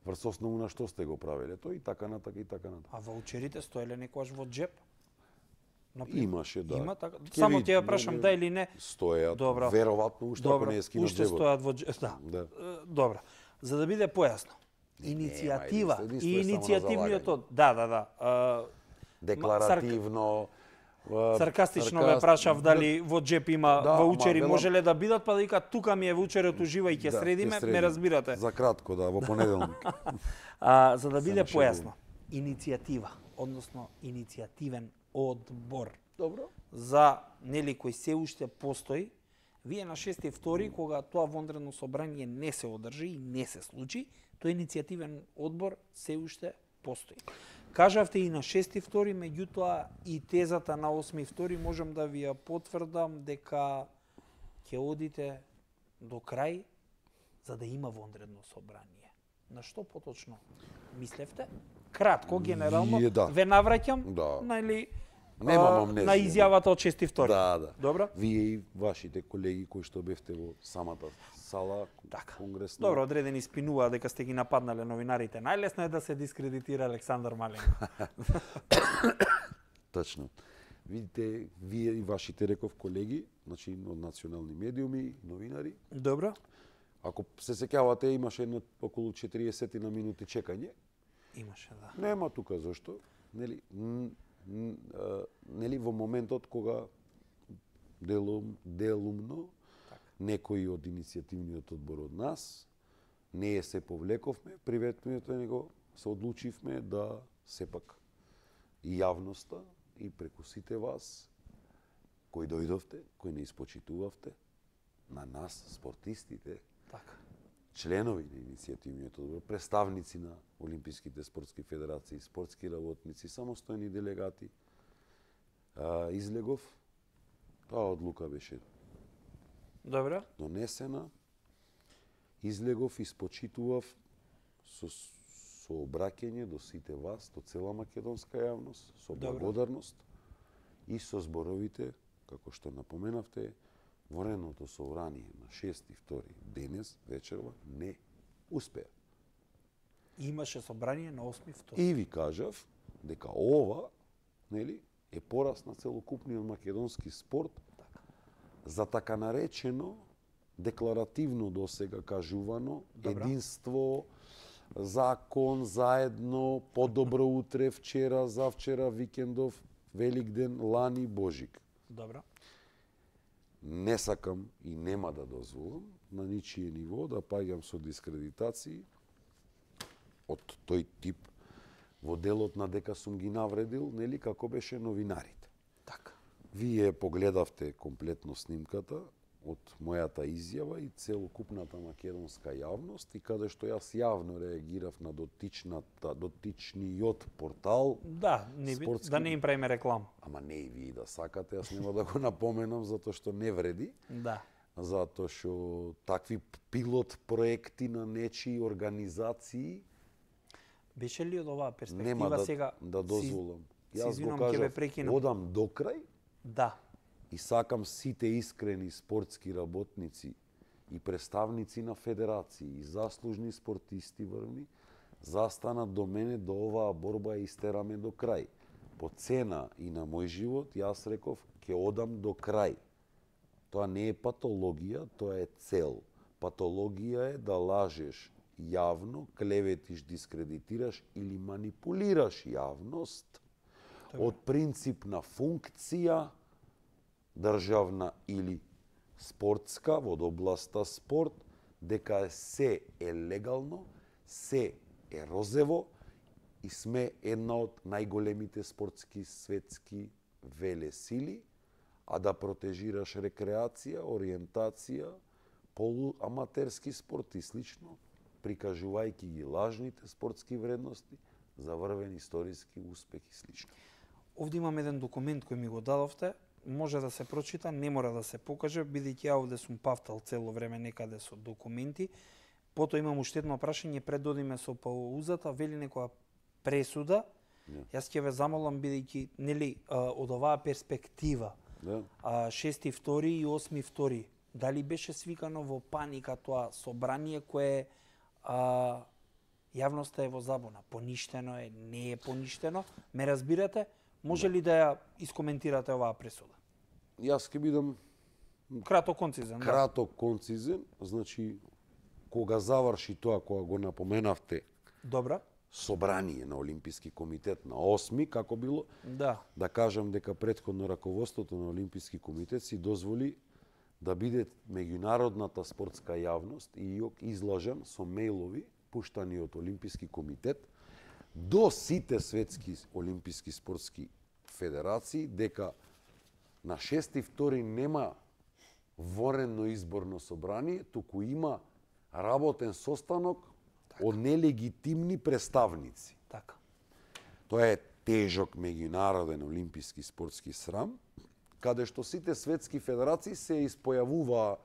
Врз основу на што сте го правеле тој и така натака и така натака. А ваучерите стоеле некогаш во джеп? Имаше, да. Има така. Само ќе ја прашам да или не. Стојат. Добро. Веројатно уште ако не е скинат уште джебот. стојат во джеп. Да. Добро. За да биде појасно. Иницијатива и иницијативниот да. Декларативно. Саркастично ве прашав дали во джеп има ваучери, можеле да бидат, па да вика тука ми е ваучерот, уживај, ќе средиме, ме разбирате. За кратко, да, во понеделник. За да биде појасно, иницијатива, односно иницијативен одбор. Добро. За нели кој се уште постои, вие на 6.2, кога тоа вонредно собрание не се одржи и не се случи, тој иницијативен одбор се уште постои. Кажавте и на 6.2, меѓутоа и тезата на 8.2 можам да ви ја потврдам дека ќе одите до крај за да има вонредно собрание. На што поточно мислевте? Кратко, генерално, ве навраќам на изјавата од 6.2. Да. Добро? Вие и вашите колеги кои што бевте во самата сала, конгресна. Добро, одредени спинува дека сте ги нападнале новинарите. Најлесно е да се дискредитира Александар Маленко. Точно. Видите, вие и вашите, реков, колеги, значи од национални медиуми, новинари. Добро. Ако се сеќавате, имаше едно околу 40 на минути чекање. Имаше, да. Нема тука зашто. Нели во моментот кога делумно некои од иницијативниот одбор од нас не се повлековме, приветствуването него се одлучивме да сепак и јавноста и преку сите вас кои дојдовте, кои не испочитувавте на нас спортистите, така, членови на иницијативниот одбор, представници на Олимписките спортски федерации, спортски работници, самостојни делегати, излегов, таа одлука беше донесена, излегов, испочитував со обраќање до сите вас, до цела македонска јавност, со благодарност и со зборовите, како што напоменавте, Вонредното собрание на 6.2 денес вечерва не успеа. Имаше собрание на 8.2. И ви кажав дека ова, нели, е порас на целокупниот македонски спорт за така наречено декларативно досега кажувано единство, закон, заедно, подобро утре, вчера, завчера, викендов, Великден, лани, Божик. Добро. Не сакам и нема да дозволам на ничие ниво да паѓам со дискредитации од тој тип во делот на дека сум ги навредил, нели, како беше новинарите. Така. Вие погледавте комплетно снимката од мојата изјава и целокупната македонска јавност и каде што јас јавно реагирав на дотичниот портал. Да, спортски, да не им правиме реклама. Ама не и вие да сакате, јас нема да го напоменам затоа што не вреди. Да. Затоа што такви пилот проекти на нечии организации беше ли од оваа перспектива нема сега да дозволам. Јас го кажав, одам до крај. Да. И сакам сите искрени спортски работници и представници на федерации и заслужни спортисти врвни застанат до мене до оваа борба и истераме до крај. По цена и на мој живот, јас реков, ќе одам до крај. Тоа не е патологија, тоа е цел. Патологија е да лажеш јавно, клеветиш, дискредитираш или манипулираш јавност од принципна функција државна или спортска во областа спорт, дека се е легално, се е розево и сме една од најголемите спортски светски велесили, а да протежираш рекреација, ориентација, полуаматерски спорт и слично, прикажувајќи ги лажните спортски вредности за врвен историски успех и слично. Овде имам еден документ кој ми го дадовте, може да се прочита, не мора да се покаже, бидејќи ја овде сум пафтал цело време некаде со документи. Потоа имам уште едно прашање, пред да одиме со паузата, вели некоја пресуда. Јас ќе ве замолам, бидејќи нели од оваа перспектива, 6.2 и 8.2, дали беше свикано во паника тоа собрание кое јавноста е во забуна? Поништено е, не е поништено? Ме разбирате? Може ли да ја искоментирате оваа пресуда? Јас ќе бидам Краток концизен. краток концизен, значи кога заврши тоа кога го напоменавте Добра. собрание на Олимписки комитет на 8 како било, Да кажам дека претходно раководството на Олимписки комитет си дозволи да биде меѓународната спортска јавност и излажан со мејлови пуштани од Олимписки комитет до сите светски олимписки спортски федерации дека на 6.2 нема ворено изборно собрание, туку има работен состанок од нелегитимни представници. Така. Тоа е тежок меѓународен олимписки спортски срам, каде што сите светски федерации се испојавуваа,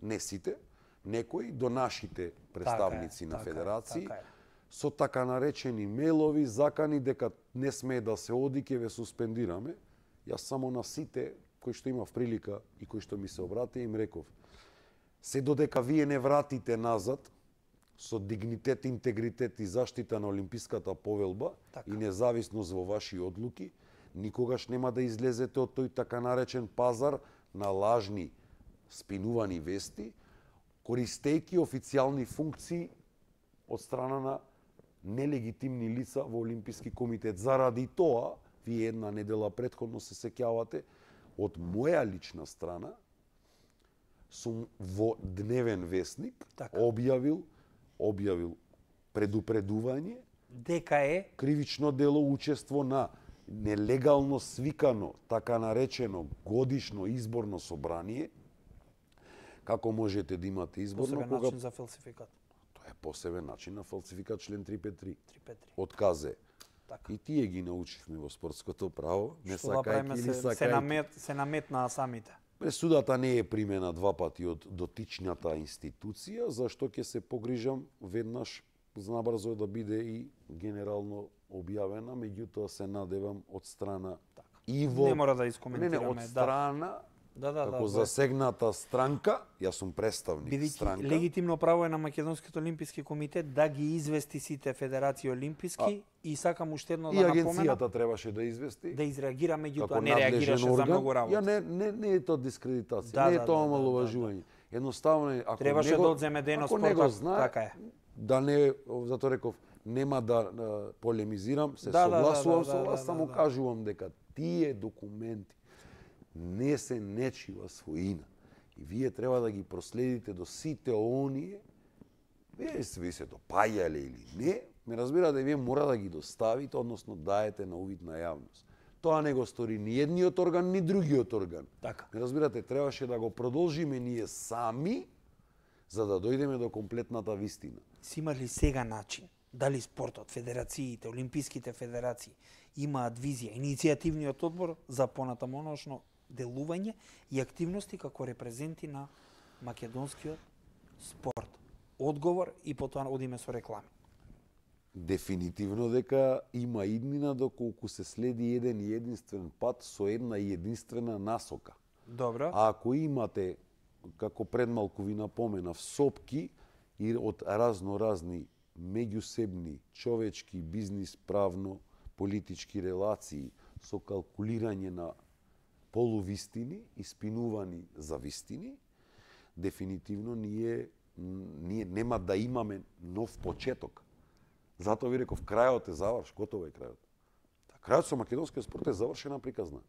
не сите, некои до нашите представници на федерации, со така наречени мејлови, закани дека не смее да се оди, ќе ве суспендираме. Јас само на сите кои што имав прилика и кои што ми се обратија им реков: се додека вие не вратите назад со дигнитет, интегритет и заштита на Олимписката повелба и независност во ваши одлуки, никогаш нема да излезете од тој така наречен пазар на лажни спинувани вести, користејќи официјални функции од страна на нелегитимни лица во Олимписки комитет. Заради тоа, вие една недела претходно се сеќавате, од моја лична страна сум во Дневен вестник објавил предупредување дека е кривично дело учество на нелегално свикано, така наречено годишно изборно собрание. Како можете да имате изборно посебен начин за фалсификат? Тоа е посебен начин на фалсификат, член 353. 353. Од КЗ. Така. И тие ги научивме во спортското право, не Што да правиме, сакајќи или сакајќи. се наметнаа самите. Пресудата не е примена два пати од дотичната институција, зашто ќе се погрижам веднаш набрзо да биде и генерално објавена, меѓутоа се надевам од страна и во... Не мора да искоментираме. од страна, како да. засегната странка, јас сум представник странка. Бидејќи легитимно право е на Македонскиот олимписки комитет да ги извести сите федерации олимписки и сакам уште едно да напоменам. И агенцијата требаше да извести. Да изреагира, меѓутоа не реагираше за многу работа. Не е тоа дискредитација, не е тоа омаловажување. Едноставно е, ако требаше него, да одземе дено спортот, знае, така е. Да не, затоа реков, нема да полемизирам, се согласувам со вас, само кажувам дека тие документи не се нечива своина. И вие треба да ги проследите до сите оние, вие се допаѓале или не, ме разбирате, вие мора да ги доставите, односно даете на увид на јавност. Тоа не го стори ни едниот орган, ни другиот орган. Така. Ме разбирате, требаше да го продолжиме ние сами, за да дојдеме до комплетната вистина. Си има ли сега начин? Дали спортот, федерациите, олимписките федерации имаат визија, иницијативниот одбор за понатамоношно делување и активности како репрезенти на македонскиот спорт? Одговор и потоа одиме со реклами. Дефинитивно дека има иднина доколку се следи еден и единствен пат со една и единствена насока. Добро. А ако имате, како пред малку ви напоменав, сопки и од разни меѓусебни, човечки, бизнис, правно, политички релации со калкулирање на полувистини и спинувани за вистини, дефинитивно ние нема да имаме нов почеток. Затоа ви реков, крајот е готово е крајот. Крајот со македонскиот спорт е завршена приказна.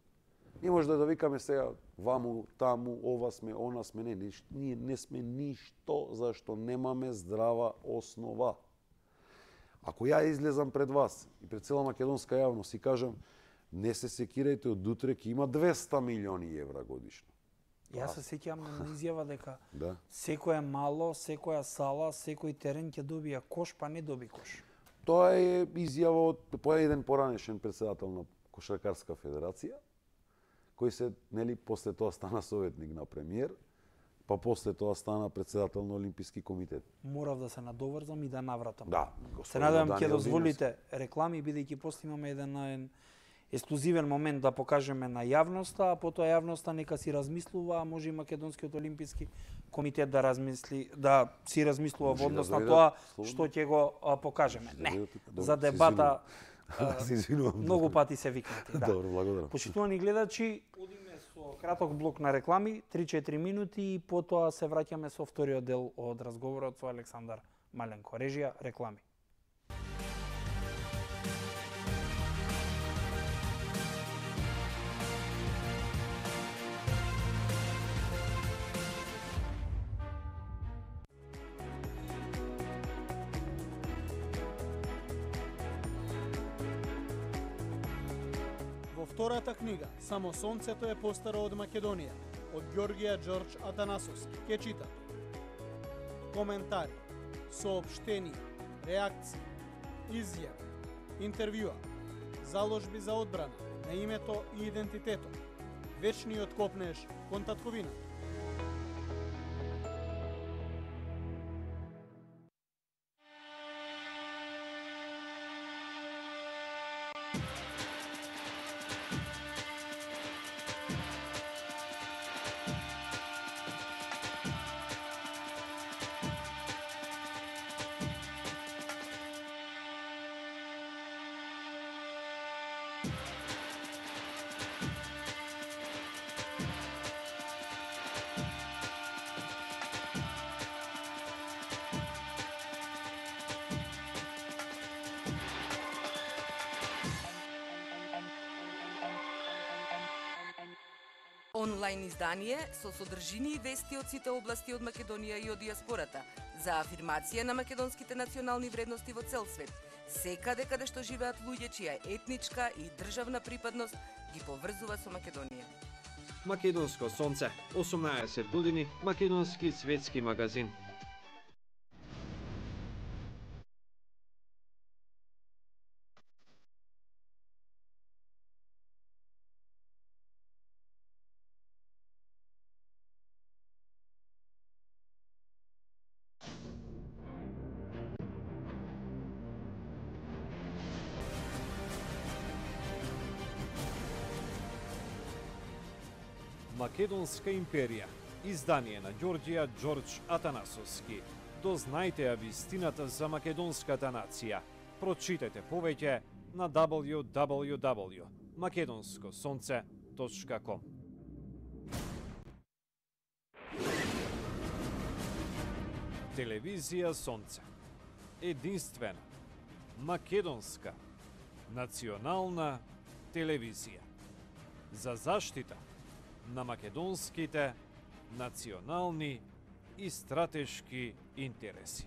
Не може да викаме сега ваму, таму, ова сме, она сме, не, ние не сме ништо зашто немаме здрава основа. Ако ја излезам пред вас и пред цела македонска јавност и кажам не се секирајте од утре ќе има 200 милиони евра годишно. Јас се сеќавам на изјава дека Да. секое мало, секоја сала, секој терен ќе добија кош, па не доби кош. Тоа е изјава од еден поранешен претседател на Кошаркарска федерација, кој се, нели, после тоа стана советник на премиер, па после тоа стана претседател на Олимписки комитет. Морав да се надоврзам и да навратам. Да, Се надевам ќе дозволите реклами, бидејќи после имаме еден ексклузивен момент да покажеме на јавноста, а потоа јавноста нека си размислува, а може и Македонскиот олимписки комитет да си размислува во однос на тоа што ќе го покажеме. Не, за дебата се извинувам. Многу пати се викнати, да. Добро, благодарам. Почитувани гледачи, одиме со краток блок на реклами, 3-4 минути и потоа се враќаме со вториот дел од разговорот со Александар Маленко. Режија, реклами. Втората книга, Само сонцето е постаро од Македонија, од Ѓорѓија Ѓорџ Атанасовски. Ке чита. Коментари, соопштенија, реакции, изјави, интервјуа, заложби за одбрана на името и идентитетот, вечниот копнеш кон татковината. Онлайн издание со содржини и вести од сите области од Македонија и од диаспората за афирмација на македонските национални вредности во цел свет, секаде каде што живеат луѓе чија етничка и државна припадност ги поврзува со Македонија. Македонско сонце, 18 години, македонски светски магазин. Македонска империја, издание на Ѓорѓија Ѓорџ Атанасовски. Дознајте ја вистината за македонската нација. Прочитете повеќе на www.makedonskosonce.com. Телевизија Сонце. Единствена, македонска, национална телевизија. За заштита на македонските национални и стратешки интереси.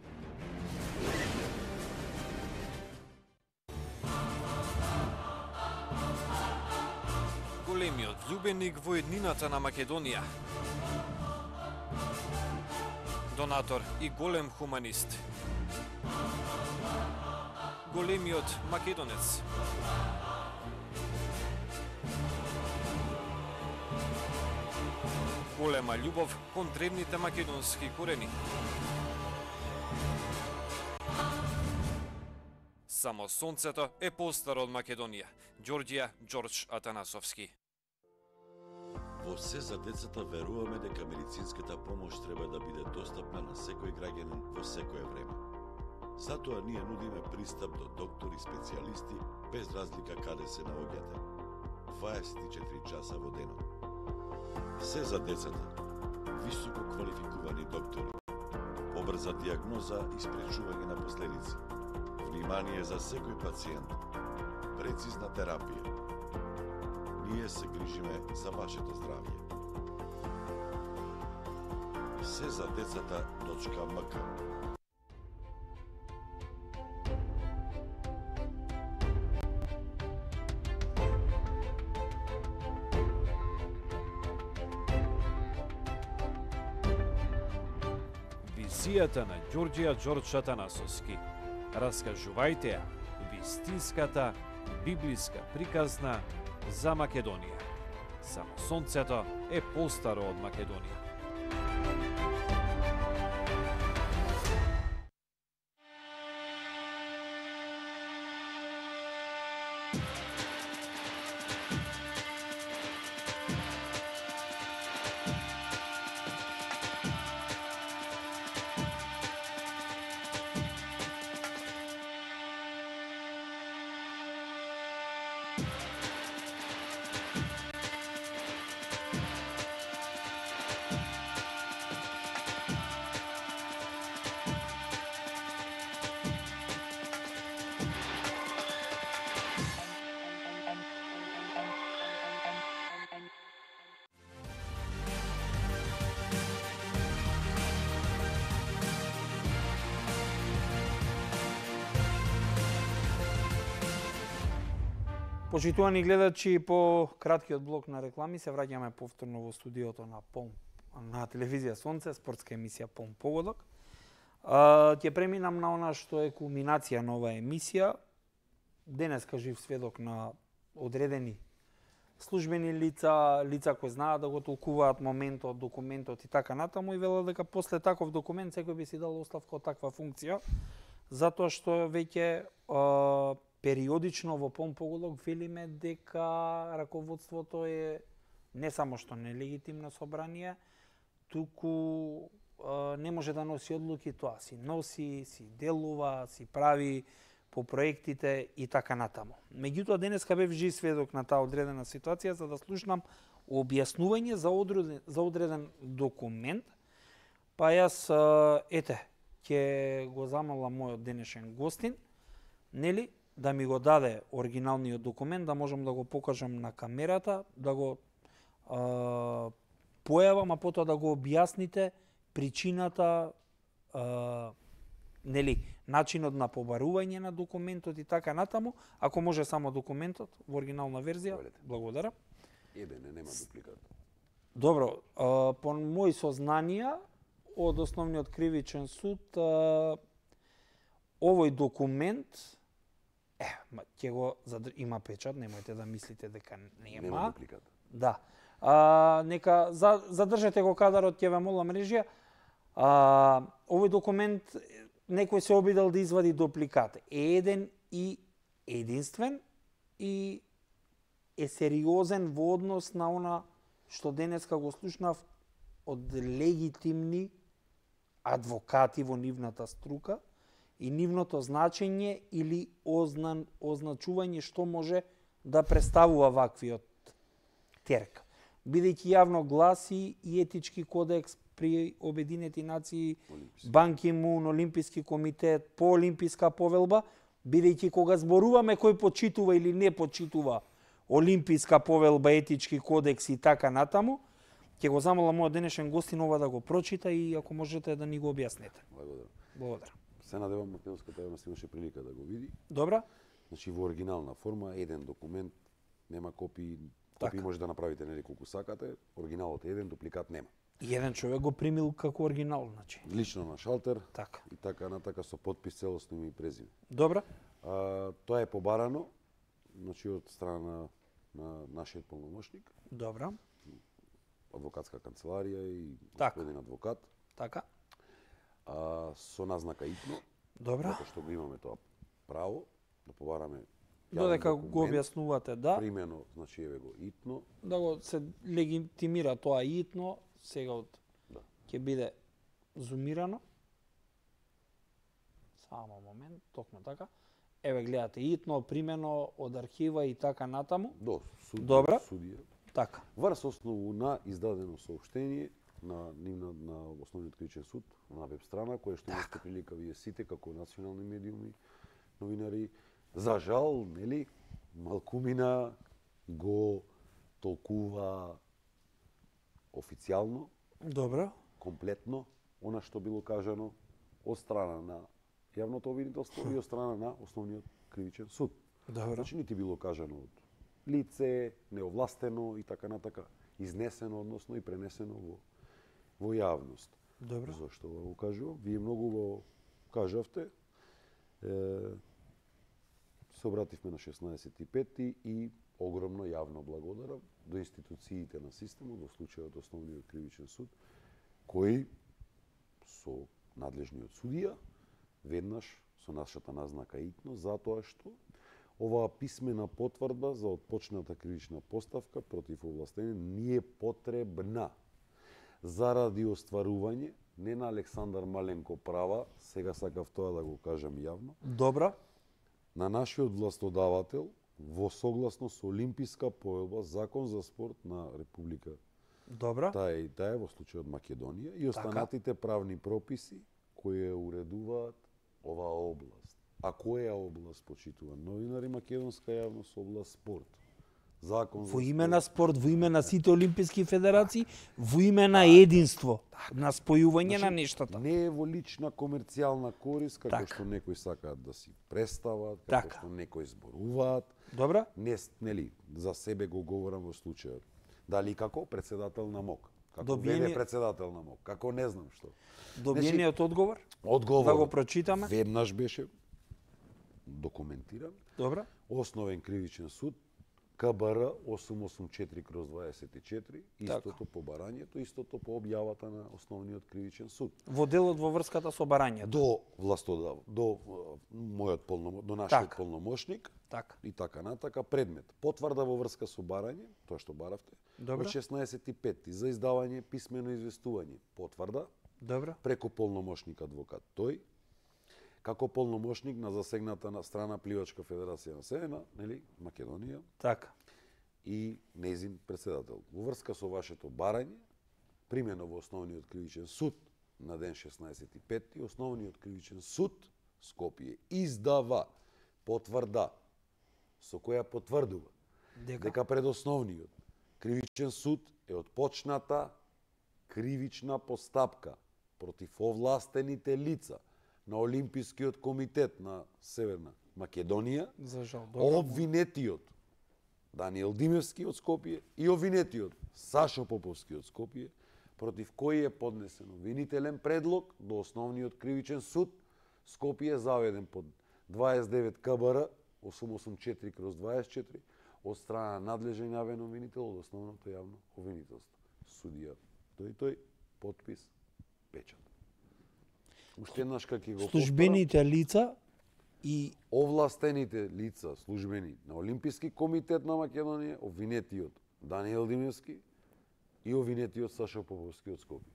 Големиот љубеник во еднината на Македонија. Донатор и голем хуманист. Големиот македонец. Голема љубов кон древните македонски корени. Само сонцето е постаро од Македонија. Ѓорѓија Ѓорџ Атанасовски. Во се за децата веруваме дека медицинската помош треба да биде достапна на секој граѓанин во секое време. Затоа ние нудиме пристап до доктори специјалисти без разлика каде се наоѓате. 24 часа во денот. Се за децата. Високо квалификувани доктори. Побрза диагноза и спречување на последици. Внимание за секој пациент. Прецизна терапија. Ние се грижиме за вашето здравје. Се за децата.мк. емисијата на Ѓорѓија Ѓорџ Атанасовски. Раскажувајте ја вистинската библиска приказна за Македонија. Само сонцето е постаро од Македонија. Почитувани гледачи, по краткиот блок на реклами се враќаме повторно во студиото на на телевизија Сонце, спортска емисија Полн погодок. Ќе преминам на она што е кулминација на оваа емисија. Денеска жив сведок на одредени службени лица кои знаат да го толкуваат моментот, документот и така натаму, и велат дека после таков документ секој би си дал оставка од таква функција, затоа што веќе периодично во Полн погодок велиме дека раководството е не само што нелегитимно собрание, туку не може да носи одлуки, тоа си носи, си делува, си прави по проектите и така натаму. Меѓутоа, денеска бев жив сведок на таа одредена ситуација за да слушнам објаснување за одреден документ. Па јас, ќе го замолам мојот денешен гостин, нели, да ми го даде оригиналниот документ, да можам да го покажам на камерата, да го појавам, а потоа да го објасните причината, нели, начинот на побарување на документот и така натаму. Ако може само документот во оригинална верзија, благодарам. Нема дупликат. Добро, по мои сознанија од Основниот кривичен суд, овој документ ќе го има печат, немојте да мислите дека нема. Нема дупликат. Да. Нека задржете го кадарот, ќе ве молам режија. Овој документ некој се обидел да извади дупликат. Е еден и единствен и е сериозен во однос на она што денеска го слушнав од легитимни адвокати во нивната струка и нивното значење или означување што може да представува ваквиот терк. Бидејќи јавно гласи и етички кодекс при Обединети нации, Бан Ки Мун, Олимписки комитет, по Олимписка повелба, бидејќи кога зборуваме кој почитува или не почитува Олимписка повелба, етички кодекс и така натаму, ќе го замолам мојот денешен гостин ова да го прочита и ако можете да ни го објаснете. Благодарам. Се надевам македонската јавност имаше прилика да го види. Добра. Значи во оригинална форма, еден документ, нема копии, може да направите неколку сакате, оригиналот е еден, дупликат нема. И еден човек го примил како оригинал, значи. Лично на шалтер, така. И така натака со подпис целосно име и презиме. Добра. Тоа е побарано, значи од страна на нашиот полномошник. Добра. Адвокатска канцеларија и господин адвокат. Така. Со назнака итно. Добра. Затоа што го имаме тоа право да побараме. Додека го објаснувате, да. Примено, значи еве го итно. Да го се легитимира тоа итно, сега ќе биде зумирано. Само момент, токму така. Еве гледате итно, примено од архива и така натаму. До судија. Така. Врз основу на издадено соопштение на Основниот кривичен суд на веб страна, која што имате прилика вие сите како национални медиуми, новинари, за жал, нели, малкумина го толкува официјално, добро, комплетно, она што било кажано од страна на јавното обвинителство и од страна на Основниот кривичен суд. Добро. Значи, нити било кажано од лице, неовластено и така натака, изнесено, односно и пренесено во јавност. Добро. Зошто го кажувам? Вие многу го кажавте. Се обративме на 16.5 и огромно јавно благодарам до институциите на системот, во случајот Основниот кривичен суд, кои со надлежниот судија веднаш со нашата назнака итно, затоа што оваа писмена потврда за отпочната кривична поставка против овластени ни е потребна заради остварување не на Александар Маленко права, сега сакав тоа да го кажам јавно, Добро. на нашиот властодавател во согласно со Олимписка поелба, Закон за спорт на Република Добро. таа и таа во случајот Македонија и останатите правни прописи кои ја уредуваат оваа област. А која област, почитуван новинари, македонска јавност, област спорт. Закон за Во име на спорт, во име на сите олимписки федерации, во име на единство, на спојување на нештата. Не е во лична комерцијална корис, како Така. што некои сакаат да си представат, како Така. што некои зборуваат. Добро? Не, нели, за себе го говорам во случајот. Дали како председател на МОК, како Добиени- ВД председател на МОК, како не знам што. Добиениот одговор? Одговор Да го прочитаме? веднаш беше документиран. Добро? Основен кривичен суд КБР 884/24, истото по барањето, истото по објавата на Основниот кривичен суд. Во делот во врската со барањето. До властодав, до до нашиот Така. полномошник Така. и така натака предмет. Потврда во врска со барање, тоа што баравте, Добро. од 16.5 за издавање писмено известување. Потврда Добро? преку полномошник адвокат тој, како полномошник на засегната на страна Пливачка федерација на Северна, нели, Македонија, Така. и нејзин председател. Во врска со вашето барање, примено во Основниот кривичен суд на ден 16.5, Основниот кривичен суд Скопје издава потврда со која потврдува дека пред Основниот кривичен суд е отпочната кривична постапка против овластените лица на Олимпискиот комитет на Северна Македонија, За жал. Добро. обвинетиот Даниел Димевски од Скопје и обвинетиот Сашо Поповски од Скопје, против кој е поднесен обвинителен предлог до Основниот кривичен суд Скопје, заведен под 29 КБР 884/24 од страна на надлежен јавен обвинител од Основното јавно обвинителство. Судија тој, подпис, печат. Уште еднаш како ќе го Службените лица и овластените лица, службени на Олимписки комитет на Македонија, обвинетиот Даниел Димевски и обвинетиот Сашо Поповски од Скопје.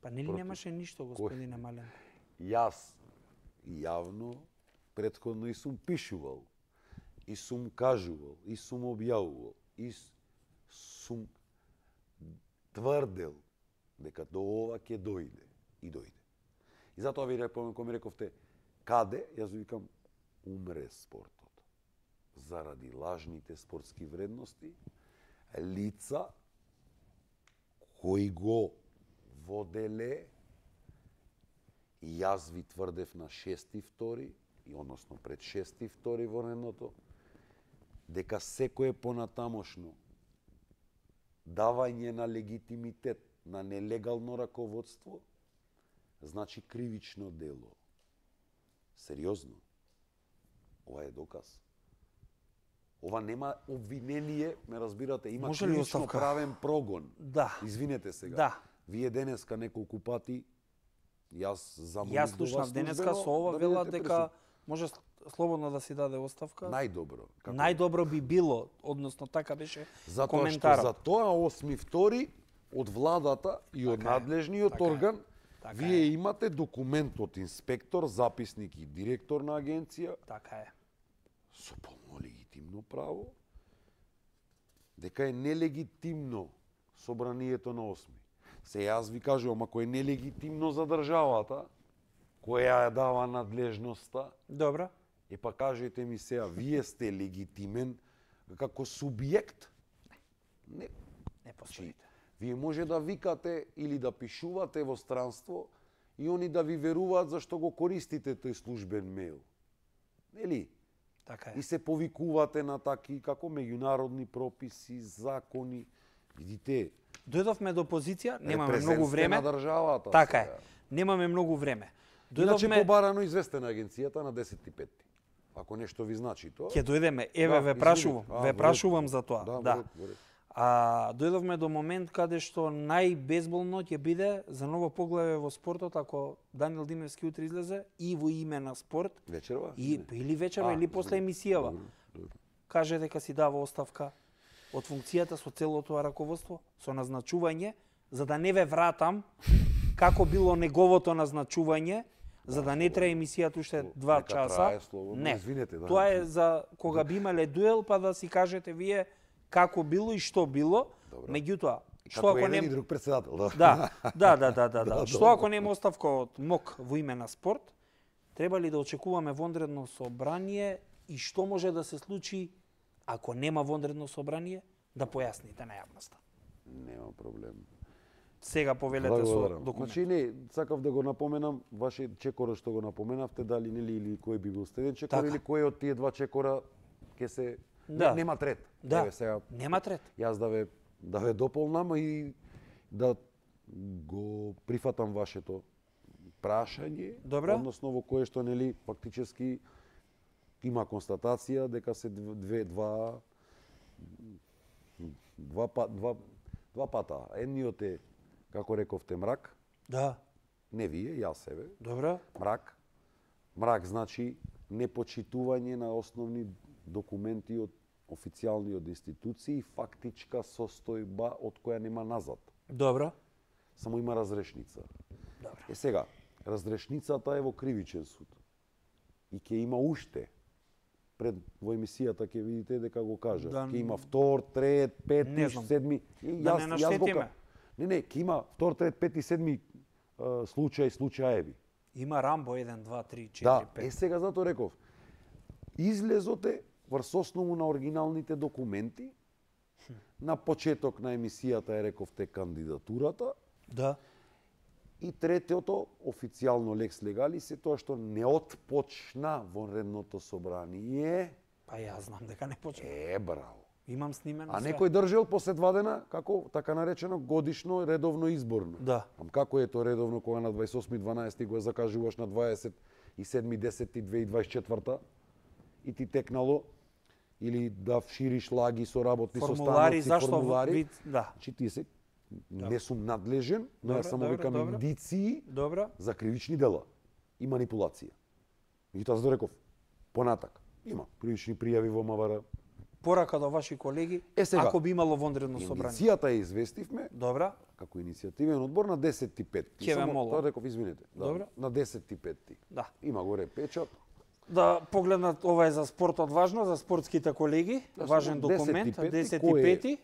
па нели Против. немаше ништо, господине Мален? Јас јавно претходно и сум пишувал, и сум кажувал, и сум објавувал, и сум тврдел дека до ова ќе дојде и дојде. И затоа ви реков, кога ми рековте каде, јас ви викам умре спортот. Заради лажните спортски вредности, лица кои го воделе, и јас ви тврдев на 6.2, и односно пред 6.2 во редното, дека секое понатамошно давање на легитимитет на нелегално раководство значи кривично дело. Сериозно. Ова е доказ. Ова нема обвинение, ме разбирате, има Може ли кривично оставка? правен прогон. Да. Извинете сега. Да. Вие денеска неколку пати јас замолив Јас слушнав денеска со ова вела дека може слободно да си даде оставка. најдобро. Како Најдобро би било, односно така беше Затоа што коментарот. за тоа 8.2 од владата и од Така е, надлежниот така е, орган така вие е. имате документ од инспектор, записник и директор на агенција Така е. со полно легитимно право дека е нелегитимно собранието на 8. Се јас ви кажувам, ако е нелегитимно за државата, која ја дава надлежноста, Добро. па кажете ми сега, вие сте легитимен како субјект? Не. Не постоите. Вие може да викате или да пишувате во странство и они да ви веруваат зашто го користите тој службен мејл. Нели? Така И е. се повикувате на таки како меѓународни прописи, закони. Видите, Дојдовме до позиција, немаме многу Репрезент време. на државата. Така е. сега. Немаме многу време. Иначе Дојдовме, побарано известена агенцијата на 10.5. Ако нешто ви значи тоа. ќе дојдеме, еве Да, ве извини. прашувам, А, ве во прашувам ред. за тоа. Да, Да. во ред. Дојдовме до момент каде што најбезболно ќе биде за ново поглаве во спортот ако Даниел Димевски утре излезе и во име на спорт Вечерва? и или вечерва или после извини. емисијава. Добро, добро. Каже дека си дава оставка од функцијата со целото тоа раководство, со назначување, за да не ве вратам како било неговото назначување, за да не трае емисијата уште 2 Нека часа. трае слободно, Не, извинете, да. тоа е за кога би имале дуел, па да си кажете вие како било и што било. Добро. Меѓутоа, што Како ако еден и не друг председател, да. Да. Што ако нема оставка од МОК во име на спорт? Треба ли да очекуваме вонредно собрание и што може да се случи ако нема вонредно собрание, да појасните на јавноста. Нема проблем. Сега повелете со Благодарам. документ. Значи не, сакав да го напоменам, ваше чекора што го напоменавте, дали нели или кој би бил следен чекор Така. или кој од тие два чекора ќе се Да. нема трет. Да, Еве сега нема трет. јас да ве дополнам и да го прифатам вашето прашање, Добро. односно во кое што нели фактички има констатација дека се два пата. Едниот е, како рековте, мрак, Да, не вие, јас себе, добро. мрак. Мрак значи непочитување на основни документи од официјални од институции и фактичка состојба од која нема назад. Добро. Само има разрешница. Добро. Сега, разрешницата е во кривичен суд. И ќе има уште. Пред во емисијата ќе видите дека го кажа. Да, Ќе има втор, трет, пети, Не знам. седми. Да не наштетиме. Не, ќе има втор, трет, пети, седми случаеви. Има Рамбо 1, 2, 3, 4, Да, 5. сега затоа реков. Излезот е врз основу на оригиналните документи. На почеток на емисијата е рековте кандидатурата. Да. И третото, официјално лекс легалис, е тоа што не отпочна вонредното собрание. Па јас знам дека не почна. Браво. Имам снимено А све. некој држел после 2 дена, како така наречено годишно редовно изборно. Да. Како е тоа редовно кога на 28.12 го закажуваш на 27.10.2024 и ти текнало или да шириш лаги со работни Формулари, состаноци, зашто формулари. вид, да. Чи ти се не сум надлежен, но Добро, јас само добро, викам добро. индиции Добро. за кривични дела и манипулација. Меѓутоа, за да реков, понатак, има кривични пријави во МВР. Порака до ваши колеги, Сега, ако би имало вонредно собрание. Иницијата ја известивме Добра. како иницијативен одбор на 10.5. Ќе ве молам. Тоа реков, извинете. Да, Добро. на 10.5. Да. Има горе печат. Да погледнат, ова е за спортот важно, за спортските колеги, Да, важен само документ, 10.5, 10.5.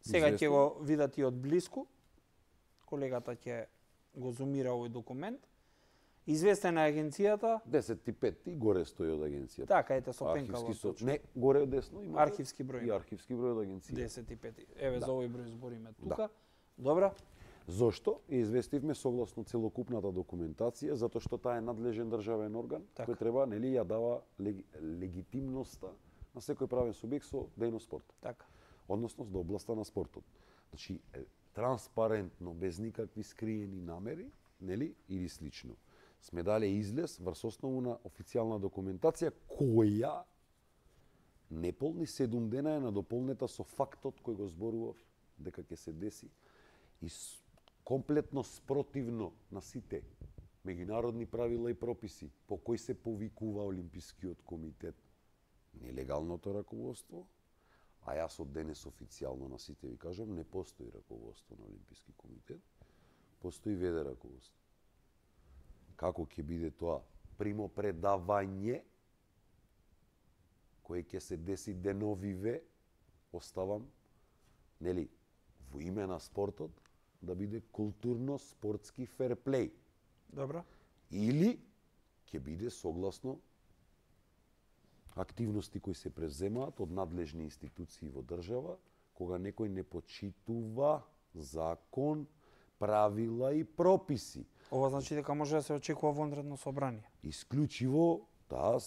Сега ќе известен. го видат и од блиску. Колегата ќе го зумира овој документ. Известена е агенцијата, 10.5 горе стои од агенцијата. така ете со пенкало. Архивски не, горе десно има. Архивски број. И архивски број од агенцијата. 10.5. Еве Да. за овој број збориме тука. Добра. Зошто? Ја известивме согласно целокупната документација, затоа што таа е надлежен државен орган, Така. кој треба, нели, ја дава легитимноста на секој правен субјект со дејност спорт. Така. Односно до областа на спортот. Значи, транспарентно, без никакви скриени намери, нели, или слично. Сме дале излез врз основу на официјална документација која неполни 7 дена е надополнета со фактот кој го зборував дека ќе се деси и комплетно спротивно на сите меѓународни правила и прописи по кои се повикува Олимпискиот комитет нелегалното раководство, а јас од денес официјално на сите ви кажам, не постои раководство на Олимписки комитет, постои ВД раководство. Како ќе биде тоа примопредавање кој ќе се деси деновиве, оставам, нели, во име на спортот, да биде културно-спортски ферплей. Добра. Или ќе биде согласно активности кои се преземаат од надлежни институции во држава, кога некој не почитува закон, правила и прописи. Ова значи дека може да се очекува вонредно собрание. Исклучиво, да,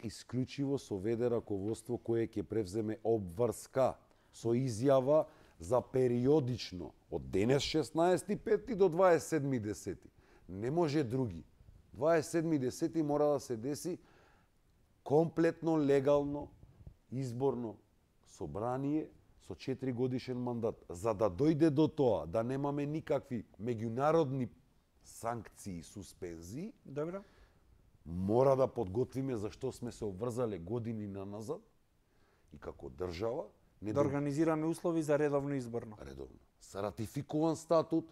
исклучиво со ВД раководство кое ќе превземе обврска со изјава за периодично од денес 16.5 до 27.10. Не може други. 27.10 мора да се деси комплетно легално изборно собрание со 4 годишен мандат. За да дојде до тоа, да немаме никакви меѓународни санкции и суспензии, Добро. мора да подготвиме за што сме се обврзале години наназад и како држава не Да организираме услови за редовно изборно. редовно. Са ратификуван статут,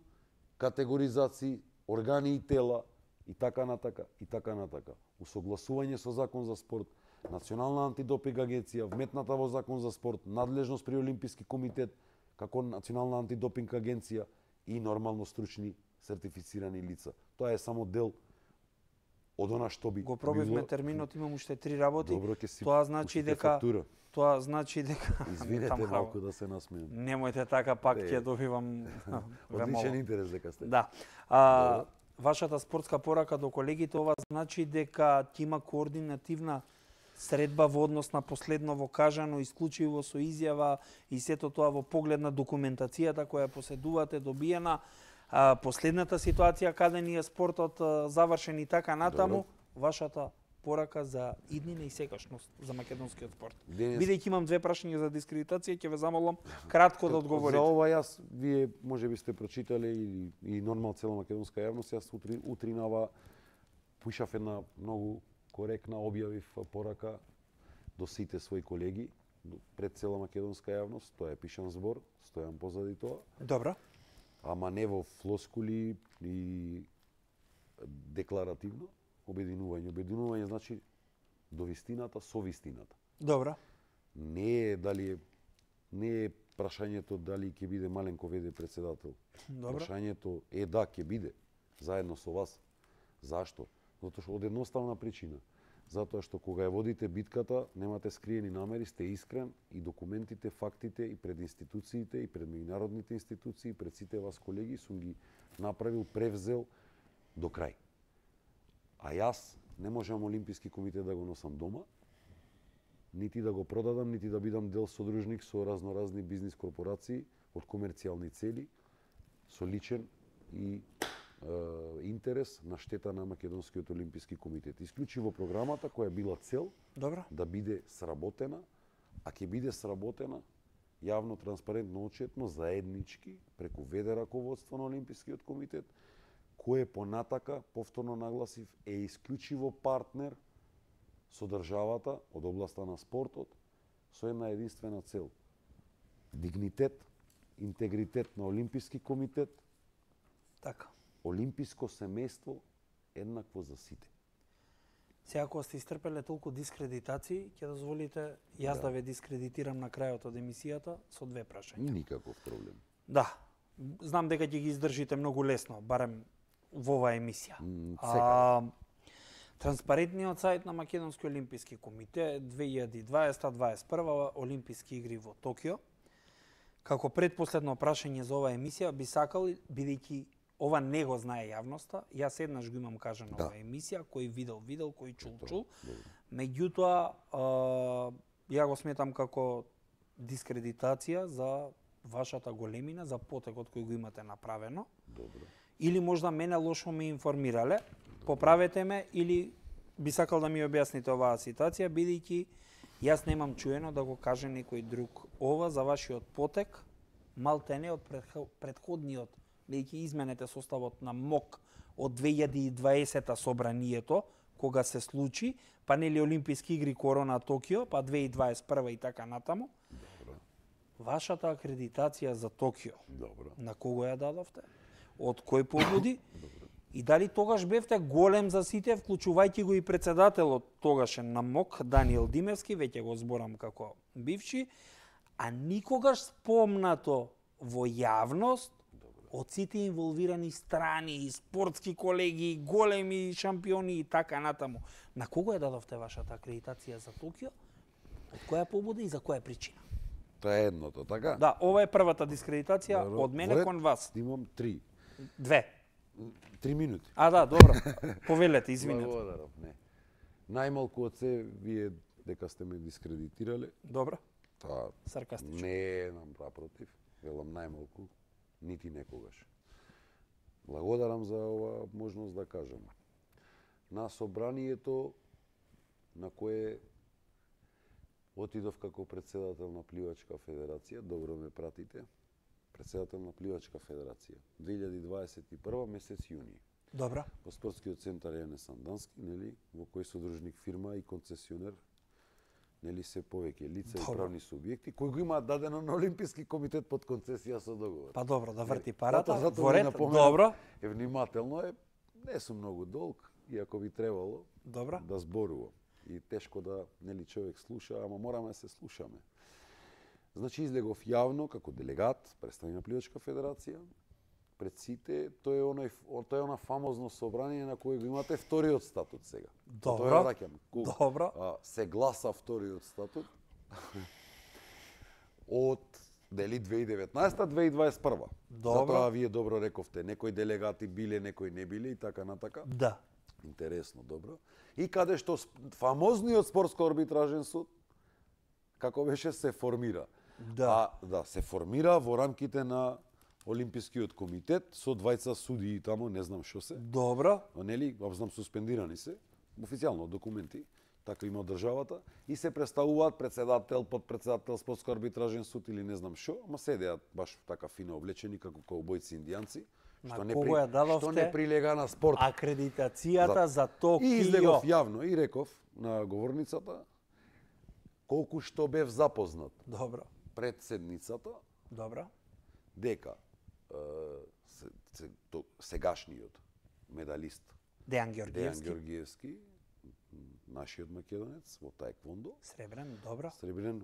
категоризации, органи и тела и така натака и така натака. Усогласување со закон за спорт, Национална антидопинг агенција, вметната во закон за спорт, надлежност при Олимписки комитет, како Национална антидопинг агенција и нормално стручни сертифицирани лица. Тоа е само дел од она што би Го пробивме било- терминот, имам уште 3 работи. Добро, ќе си Тоа значи пуштите дека фактура. Тоа значи дека Извинете Таму малку да се насмеам. Немојте така, пак Не. ќе добивам Одличен вемало. интерес дека сте. Да. Вашата спортска порака до колегите, ова значи дека ќе има координативна средба во однос на последново кажано, исклучиво со изјава и сето тоа во поглед на документацијата која поседувате добиена, последната ситуација каде ни е спортот завршен и така натаму, вашата порака за иднина и секашност за македонскиот спорт. Денес- Бидејќи имам 2 прашања за дискредитација, ќе ве замолам кратко да одговорите. За ова јас, вие можеби сте прочитале и нормал цела македонска јавност, јас утринава пушав една многу коректна, објавив порака до сите своји колеги, пред цела македонска јавност, тоа е пишан збор, стојам позади тоа, Добро. ама не во флоскули и декларативно, обединување. Обединување значи до вистината со вистината. Добро. Не е прашањето дали ќе биде Маленко ВД председател. Добро. Прашањето е да ќе биде заедно со вас. Зашто? Затоа што од едноставна причина. Затоа што кога ја водите битката, немате скриени намери, сте искрен и документите, фактите и пред институциите и пред меѓународните институции, пред сите вас колеги сум ги направил, превзел до крај. А јас не можам Олимписки комитет да го носам дома, нити да го продадам, нити да бидам дел содружник со разноразни бизнис корпорации од комерцијални цели, со личен и интерес на штета на Македонскиот Олимписки комитет. Исклучиво програмата која била цел Добро. да биде сработена, а ќе биде сработена јавно, транспарентно, отчетно, заеднички, преку ВД раководство на Олимпискиот комитет, кој понатака, повторно нагласив, е исклучиво партнер со државата од областа на спортот, со една единствена цел. Дигнитет, интегритет на Олимписки комитет, Така. олимписко семејство еднакво за сите. Сега кога сте истрпеле толку дискредитации, ќе дозволите јас да ве дискредитирам на крајот од емисијата со 2 прашања. Никаков проблем. Да. Знам дека ќе ги издржите многу лесно, барем во оваа емисија. Секаде. Транспарентниот сајт на Македонски олимписки комитет 2020-2021 Олимписки игри во Токио. Како предпоследно прашање за оваа емисија би сакал, бидејќи ова не го знае јавноста, јас еднаш го имам кажано оваа емисија, кој видел, кој чул. Меѓутоа, ја го сметам како дискредитација за вашата големина, за потекот кој го имате направено. Добро. Или можда мене лошо ме информирале, поправете ме, или би сакал да ми објасните оваа ситуација, бидејќи јас немам чуено да го каже некој друг ова за вашиот потек, малтене од предходниот, бидејќи изменете составот на МОК од 2020 собранието, кога се случи, па нели Олимписки игри Корона Токио, па 2021 и така натаму. Добро. Вашата акредитација за Токио, Добро. на кого ја дадовте? Од кој побуди? И дали тогаш бевте голем за сите, вклучувајќи го и председателот тогашен на МОК, Даниел Димевски, веќе го зборам како бивши, а никогаш спомнато во јавност од сите инволвирани страни, и спортски колеги, и големи шампиони и така натаму. На кого ја дадовте вашата акредитација за Токио? Од која побуда и за која причина? Тоа е едното, така? Да, ова е првата дискредитација Добро. од мене Во ред, кон вас. Имам 3 2. минути. Да, добро. Повелете, извинете. Благодарам. Не. Најмалку од се, вие дека сте ме дискредитирале, Добро. Тоа Саркастично. не напротив, велам најмалку, нити некогаш. Благодарам за ова можност да кажам. На собранието на кое отидов како председател на Пливачка федерација, добро ме пратите, председател на Пливачка федерација, 2021 месец јуни. Добро. Во спортскиот центар Јане Сандански, нели, во кој содружник фирма и концесионер, нели, се повеќе лица и правни субјекти кои го имаат дадено на Олимписки комитет под концесија со договор. Па добро, да врти парата, Зато во ви ред, напоменам, добро. Внимателно е, не сум многу долг, иако би требало Добро. да зборувам. И тешко да, нели, човек слуша, ама мораме да се слушаме. Значи, излегов јавно како делегат, представник на Пливачка федерација, пред сите, тоа е она фамозно собрание на кое го имате вториот статут сега. Добро. Тоа ја раќам. Добро. Се гласа вториот статут од дали 2019-2021. Добро. Затоа вие добро рековте, некои делегати биле, некои не биле и така натака. Да. Интересно, добро. И каде што фамозниот спортско арбитражен суд, како беше, се формира. Да. Се формира во рамките на Олимпискиот комитет со двајца судии таму, не знам што се. Добро. Нели, знам суспендирани се, официјално документи, така има од државата, и се представуваат председател, подпредседател, спортско арбитражен суд или не знам што, ама седеат баш така фино облечени како коубојци индијанци, што не прилега на спорт. Акредитацијата за Токио. И излегов јавно и реков на говорницата колку што бев запознат Добро. пред седницата Добро. дека сегашниот медалист Дејан Дејан Ѓорѓиевски. Ѓорѓиевски, нашиот македонец во таеквондо, Сребрен, добро. сребрен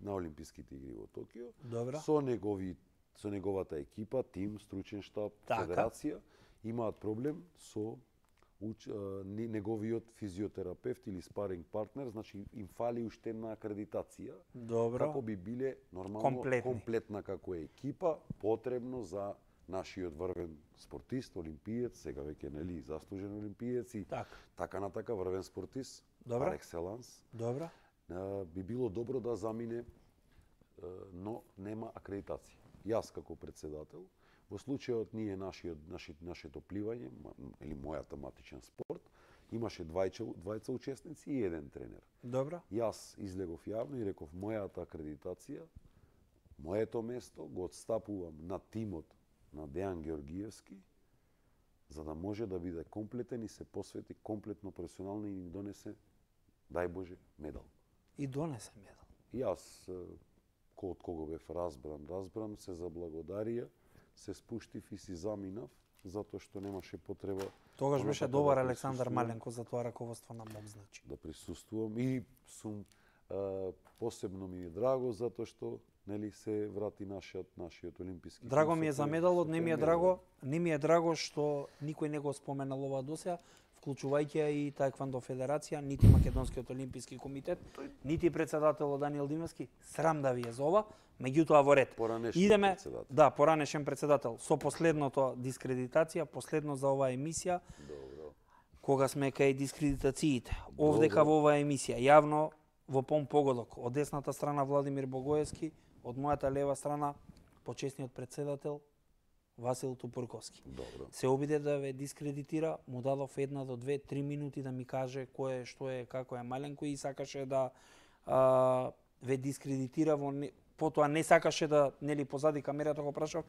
на Олимписките игри во Токио, Добро. со неговата екипа, тим, стручен штаб, Така. федерација, имаат проблем со неговиот физиотерапевт или спаринг партнер, значи им фали уште една акредитација, Добро. како би биле нормално комплетна како екипа, потребно за нашиот врвен спортист, олимпиец, сега веќе нели заслужен олимпиец и така натака врвен спортист, Добро. пар екселанс. Добро. Би било добро да замине, но нема акредитација. Јас како председател, во случајот ние нашето пливање или мојата матичен спорт, имаше двајца учесници и еден тренер. Добро. Јас излегов јавно и реков мојата акредитација, моето место го отстапувам на тимот на Дејан Ѓорѓиевски, за да може да биде комплетен и се посвети комплетно професионално и ни донесе, дај Боже, медал. И донесе медал. И јас, од кого бев разбран, се заблагодарија, се спуштив и си заминав, затоа што немаше потреба. Тогаш беше добар Александар Маленко за тоа раководство на МОК, значи. Да присуствувам и сум посебно ми е драго затоа што нели се врати нашиот олимписки. Драго ми е за медалот, не ми е драго што никој не го споменал ова досега, вклучувајќи и Таеквондо федерација, нити Македонскиот олимписки комитет, нити председателот Даниел Димовски. Срам да ви е за ова, меѓутоа во ред. Идеме, да, поранешен председател, со последното дискредитација, последно за оваа емисија. Добро. Кога сме кај дискредитациите, овдека во оваа емисија, јавно во погодок, од десната страна Владимир Богоевски, од мојата лева страна почесниот председател Васил Тупурковски. Добро. Се обиде да ве дискредитира, му дадов 1 до 2-3 минути да ми каже кој е, што е, како е Маленко и сакаше да ве дискредитира потоа не сакаше да, нели, позади камерата го прашав,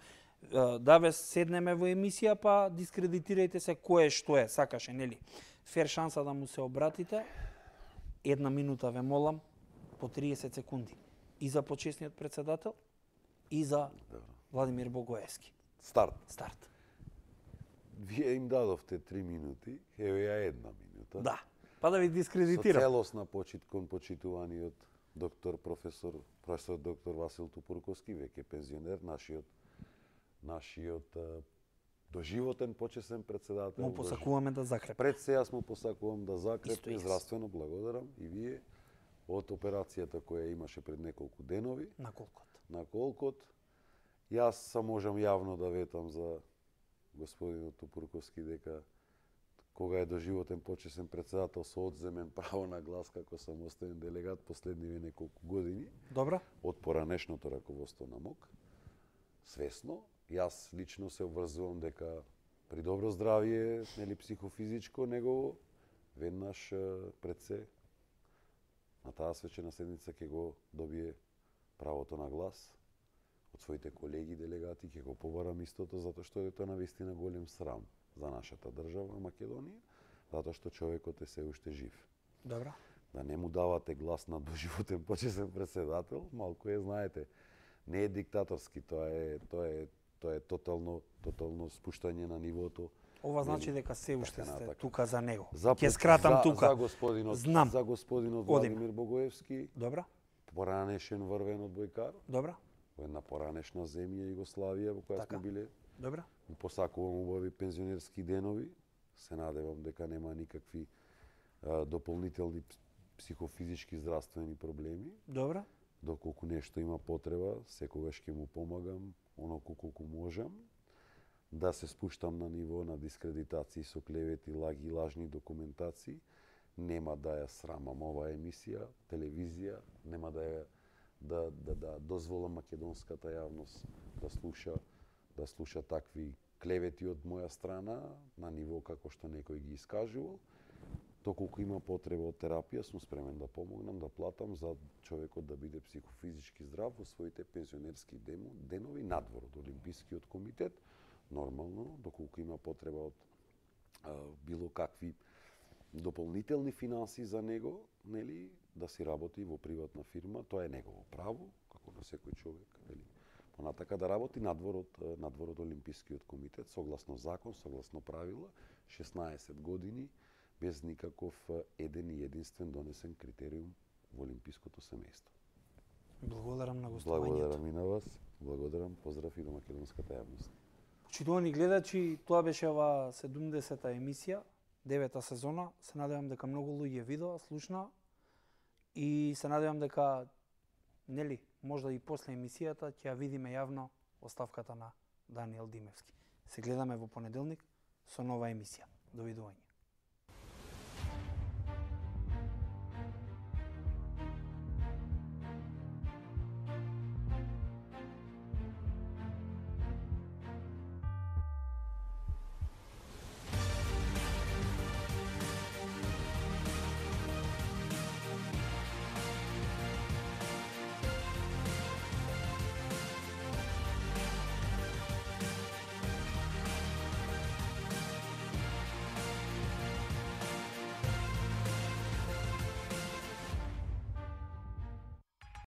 да ве седнеме во емисија, па дискредитирајте се кој е, што е, сакаше, нели. Фер шанса да му се обратите, 1 минута ве молам, по 30 секунди. И за почесниот председател, и за Владимир Богоевски. Старт. Вие им дадовте 3 минути, еве ја 1 минута. Да, па да ви дискредитирам. Со целосна почит кон почитуваниот професор доктор Васил Тупурковски, веќе пензионер, нашиот доживотен почесен председател. Му посакуваме да закрепи. Пред се јас му посакувам да закрепи, здравствено благодарам и вие од операцијата која имаше пред неколку денови. На колкот. Јас можам јавно да ветам за господинот Тупурковски дека кога е доживотен почесен председател со одземен право на глас како самостоен делегат последниве неколку години Добра. од поранешното раководство на МОК. Свесно, јас лично се обврзувам дека при добро здравје, нели психофизичко, негово, веднаш пред се на таа свечена седница ќе го добие правото на глас од своите колеги делегати, ќе го побарам истото, затоа што е тоа навистина голем срам за нашата држава Македонија, затоа што човекот е се уште жив. Добра. Да не му давате глас на доживотен почесен председател, малку е, знаете, не е диктаторски, тоа е тотално спуштање на нивото. Ова значи дека се уште така сте натака. тука за него. За Ќе скратам тука. За господинот, Знам. за господинот Одиме. Владимир Богоевски, Добра. поранешен врвен одбојкар, Добра. во една поранешна земја Југославија во која Така. сме биле. Добра. Посакувам убави пензионерски денови. Се надевам дека нема никакви дополнителни психофизички здравствени проблеми. Добра. Доколку нешто има потреба, секогаш ќе му помагам, оноку колку можам. Да се спуштам на ниво на дискредитации со клевети, лаги и лажни документации. Нема да ја срамам оваа емисија, телевизија, нема да дозволам македонската јавност да слуша такви клевети од моја страна на ниво како што некој ги искажувал. Доколку има потреба од терапија, сум спремен да помогнам, да платам за човекот да биде психофизички здрав во своите пензионерски денови надвор од Олимпискиот комитет. Нормално, доколку има потреба од било какви дополнителни финанси за него, нели, да си работи во приватна фирма, тоа е негово право, како на секој човек, нели. Понатака да работи надвор од Олимпискиот комитет, согласно закон, согласно правила, 16 години, без никаков еден и единствен донесен критериум во олимпиското семејство. Благодарам на гостувањето. Благодарам и на вас. Благодарам, поздрав и до македонската јавност. Почитувани гледачи, тоа беше ова 70-та емисија, 9-та сезона. Се надевам дека многу луѓе видоа, слушна и се надевам дека нели, можда и после емисијата ќе ја видиме јавно оставката на Даниел Димевски. Се гледаме во понеделник со нова емисија. Довидување.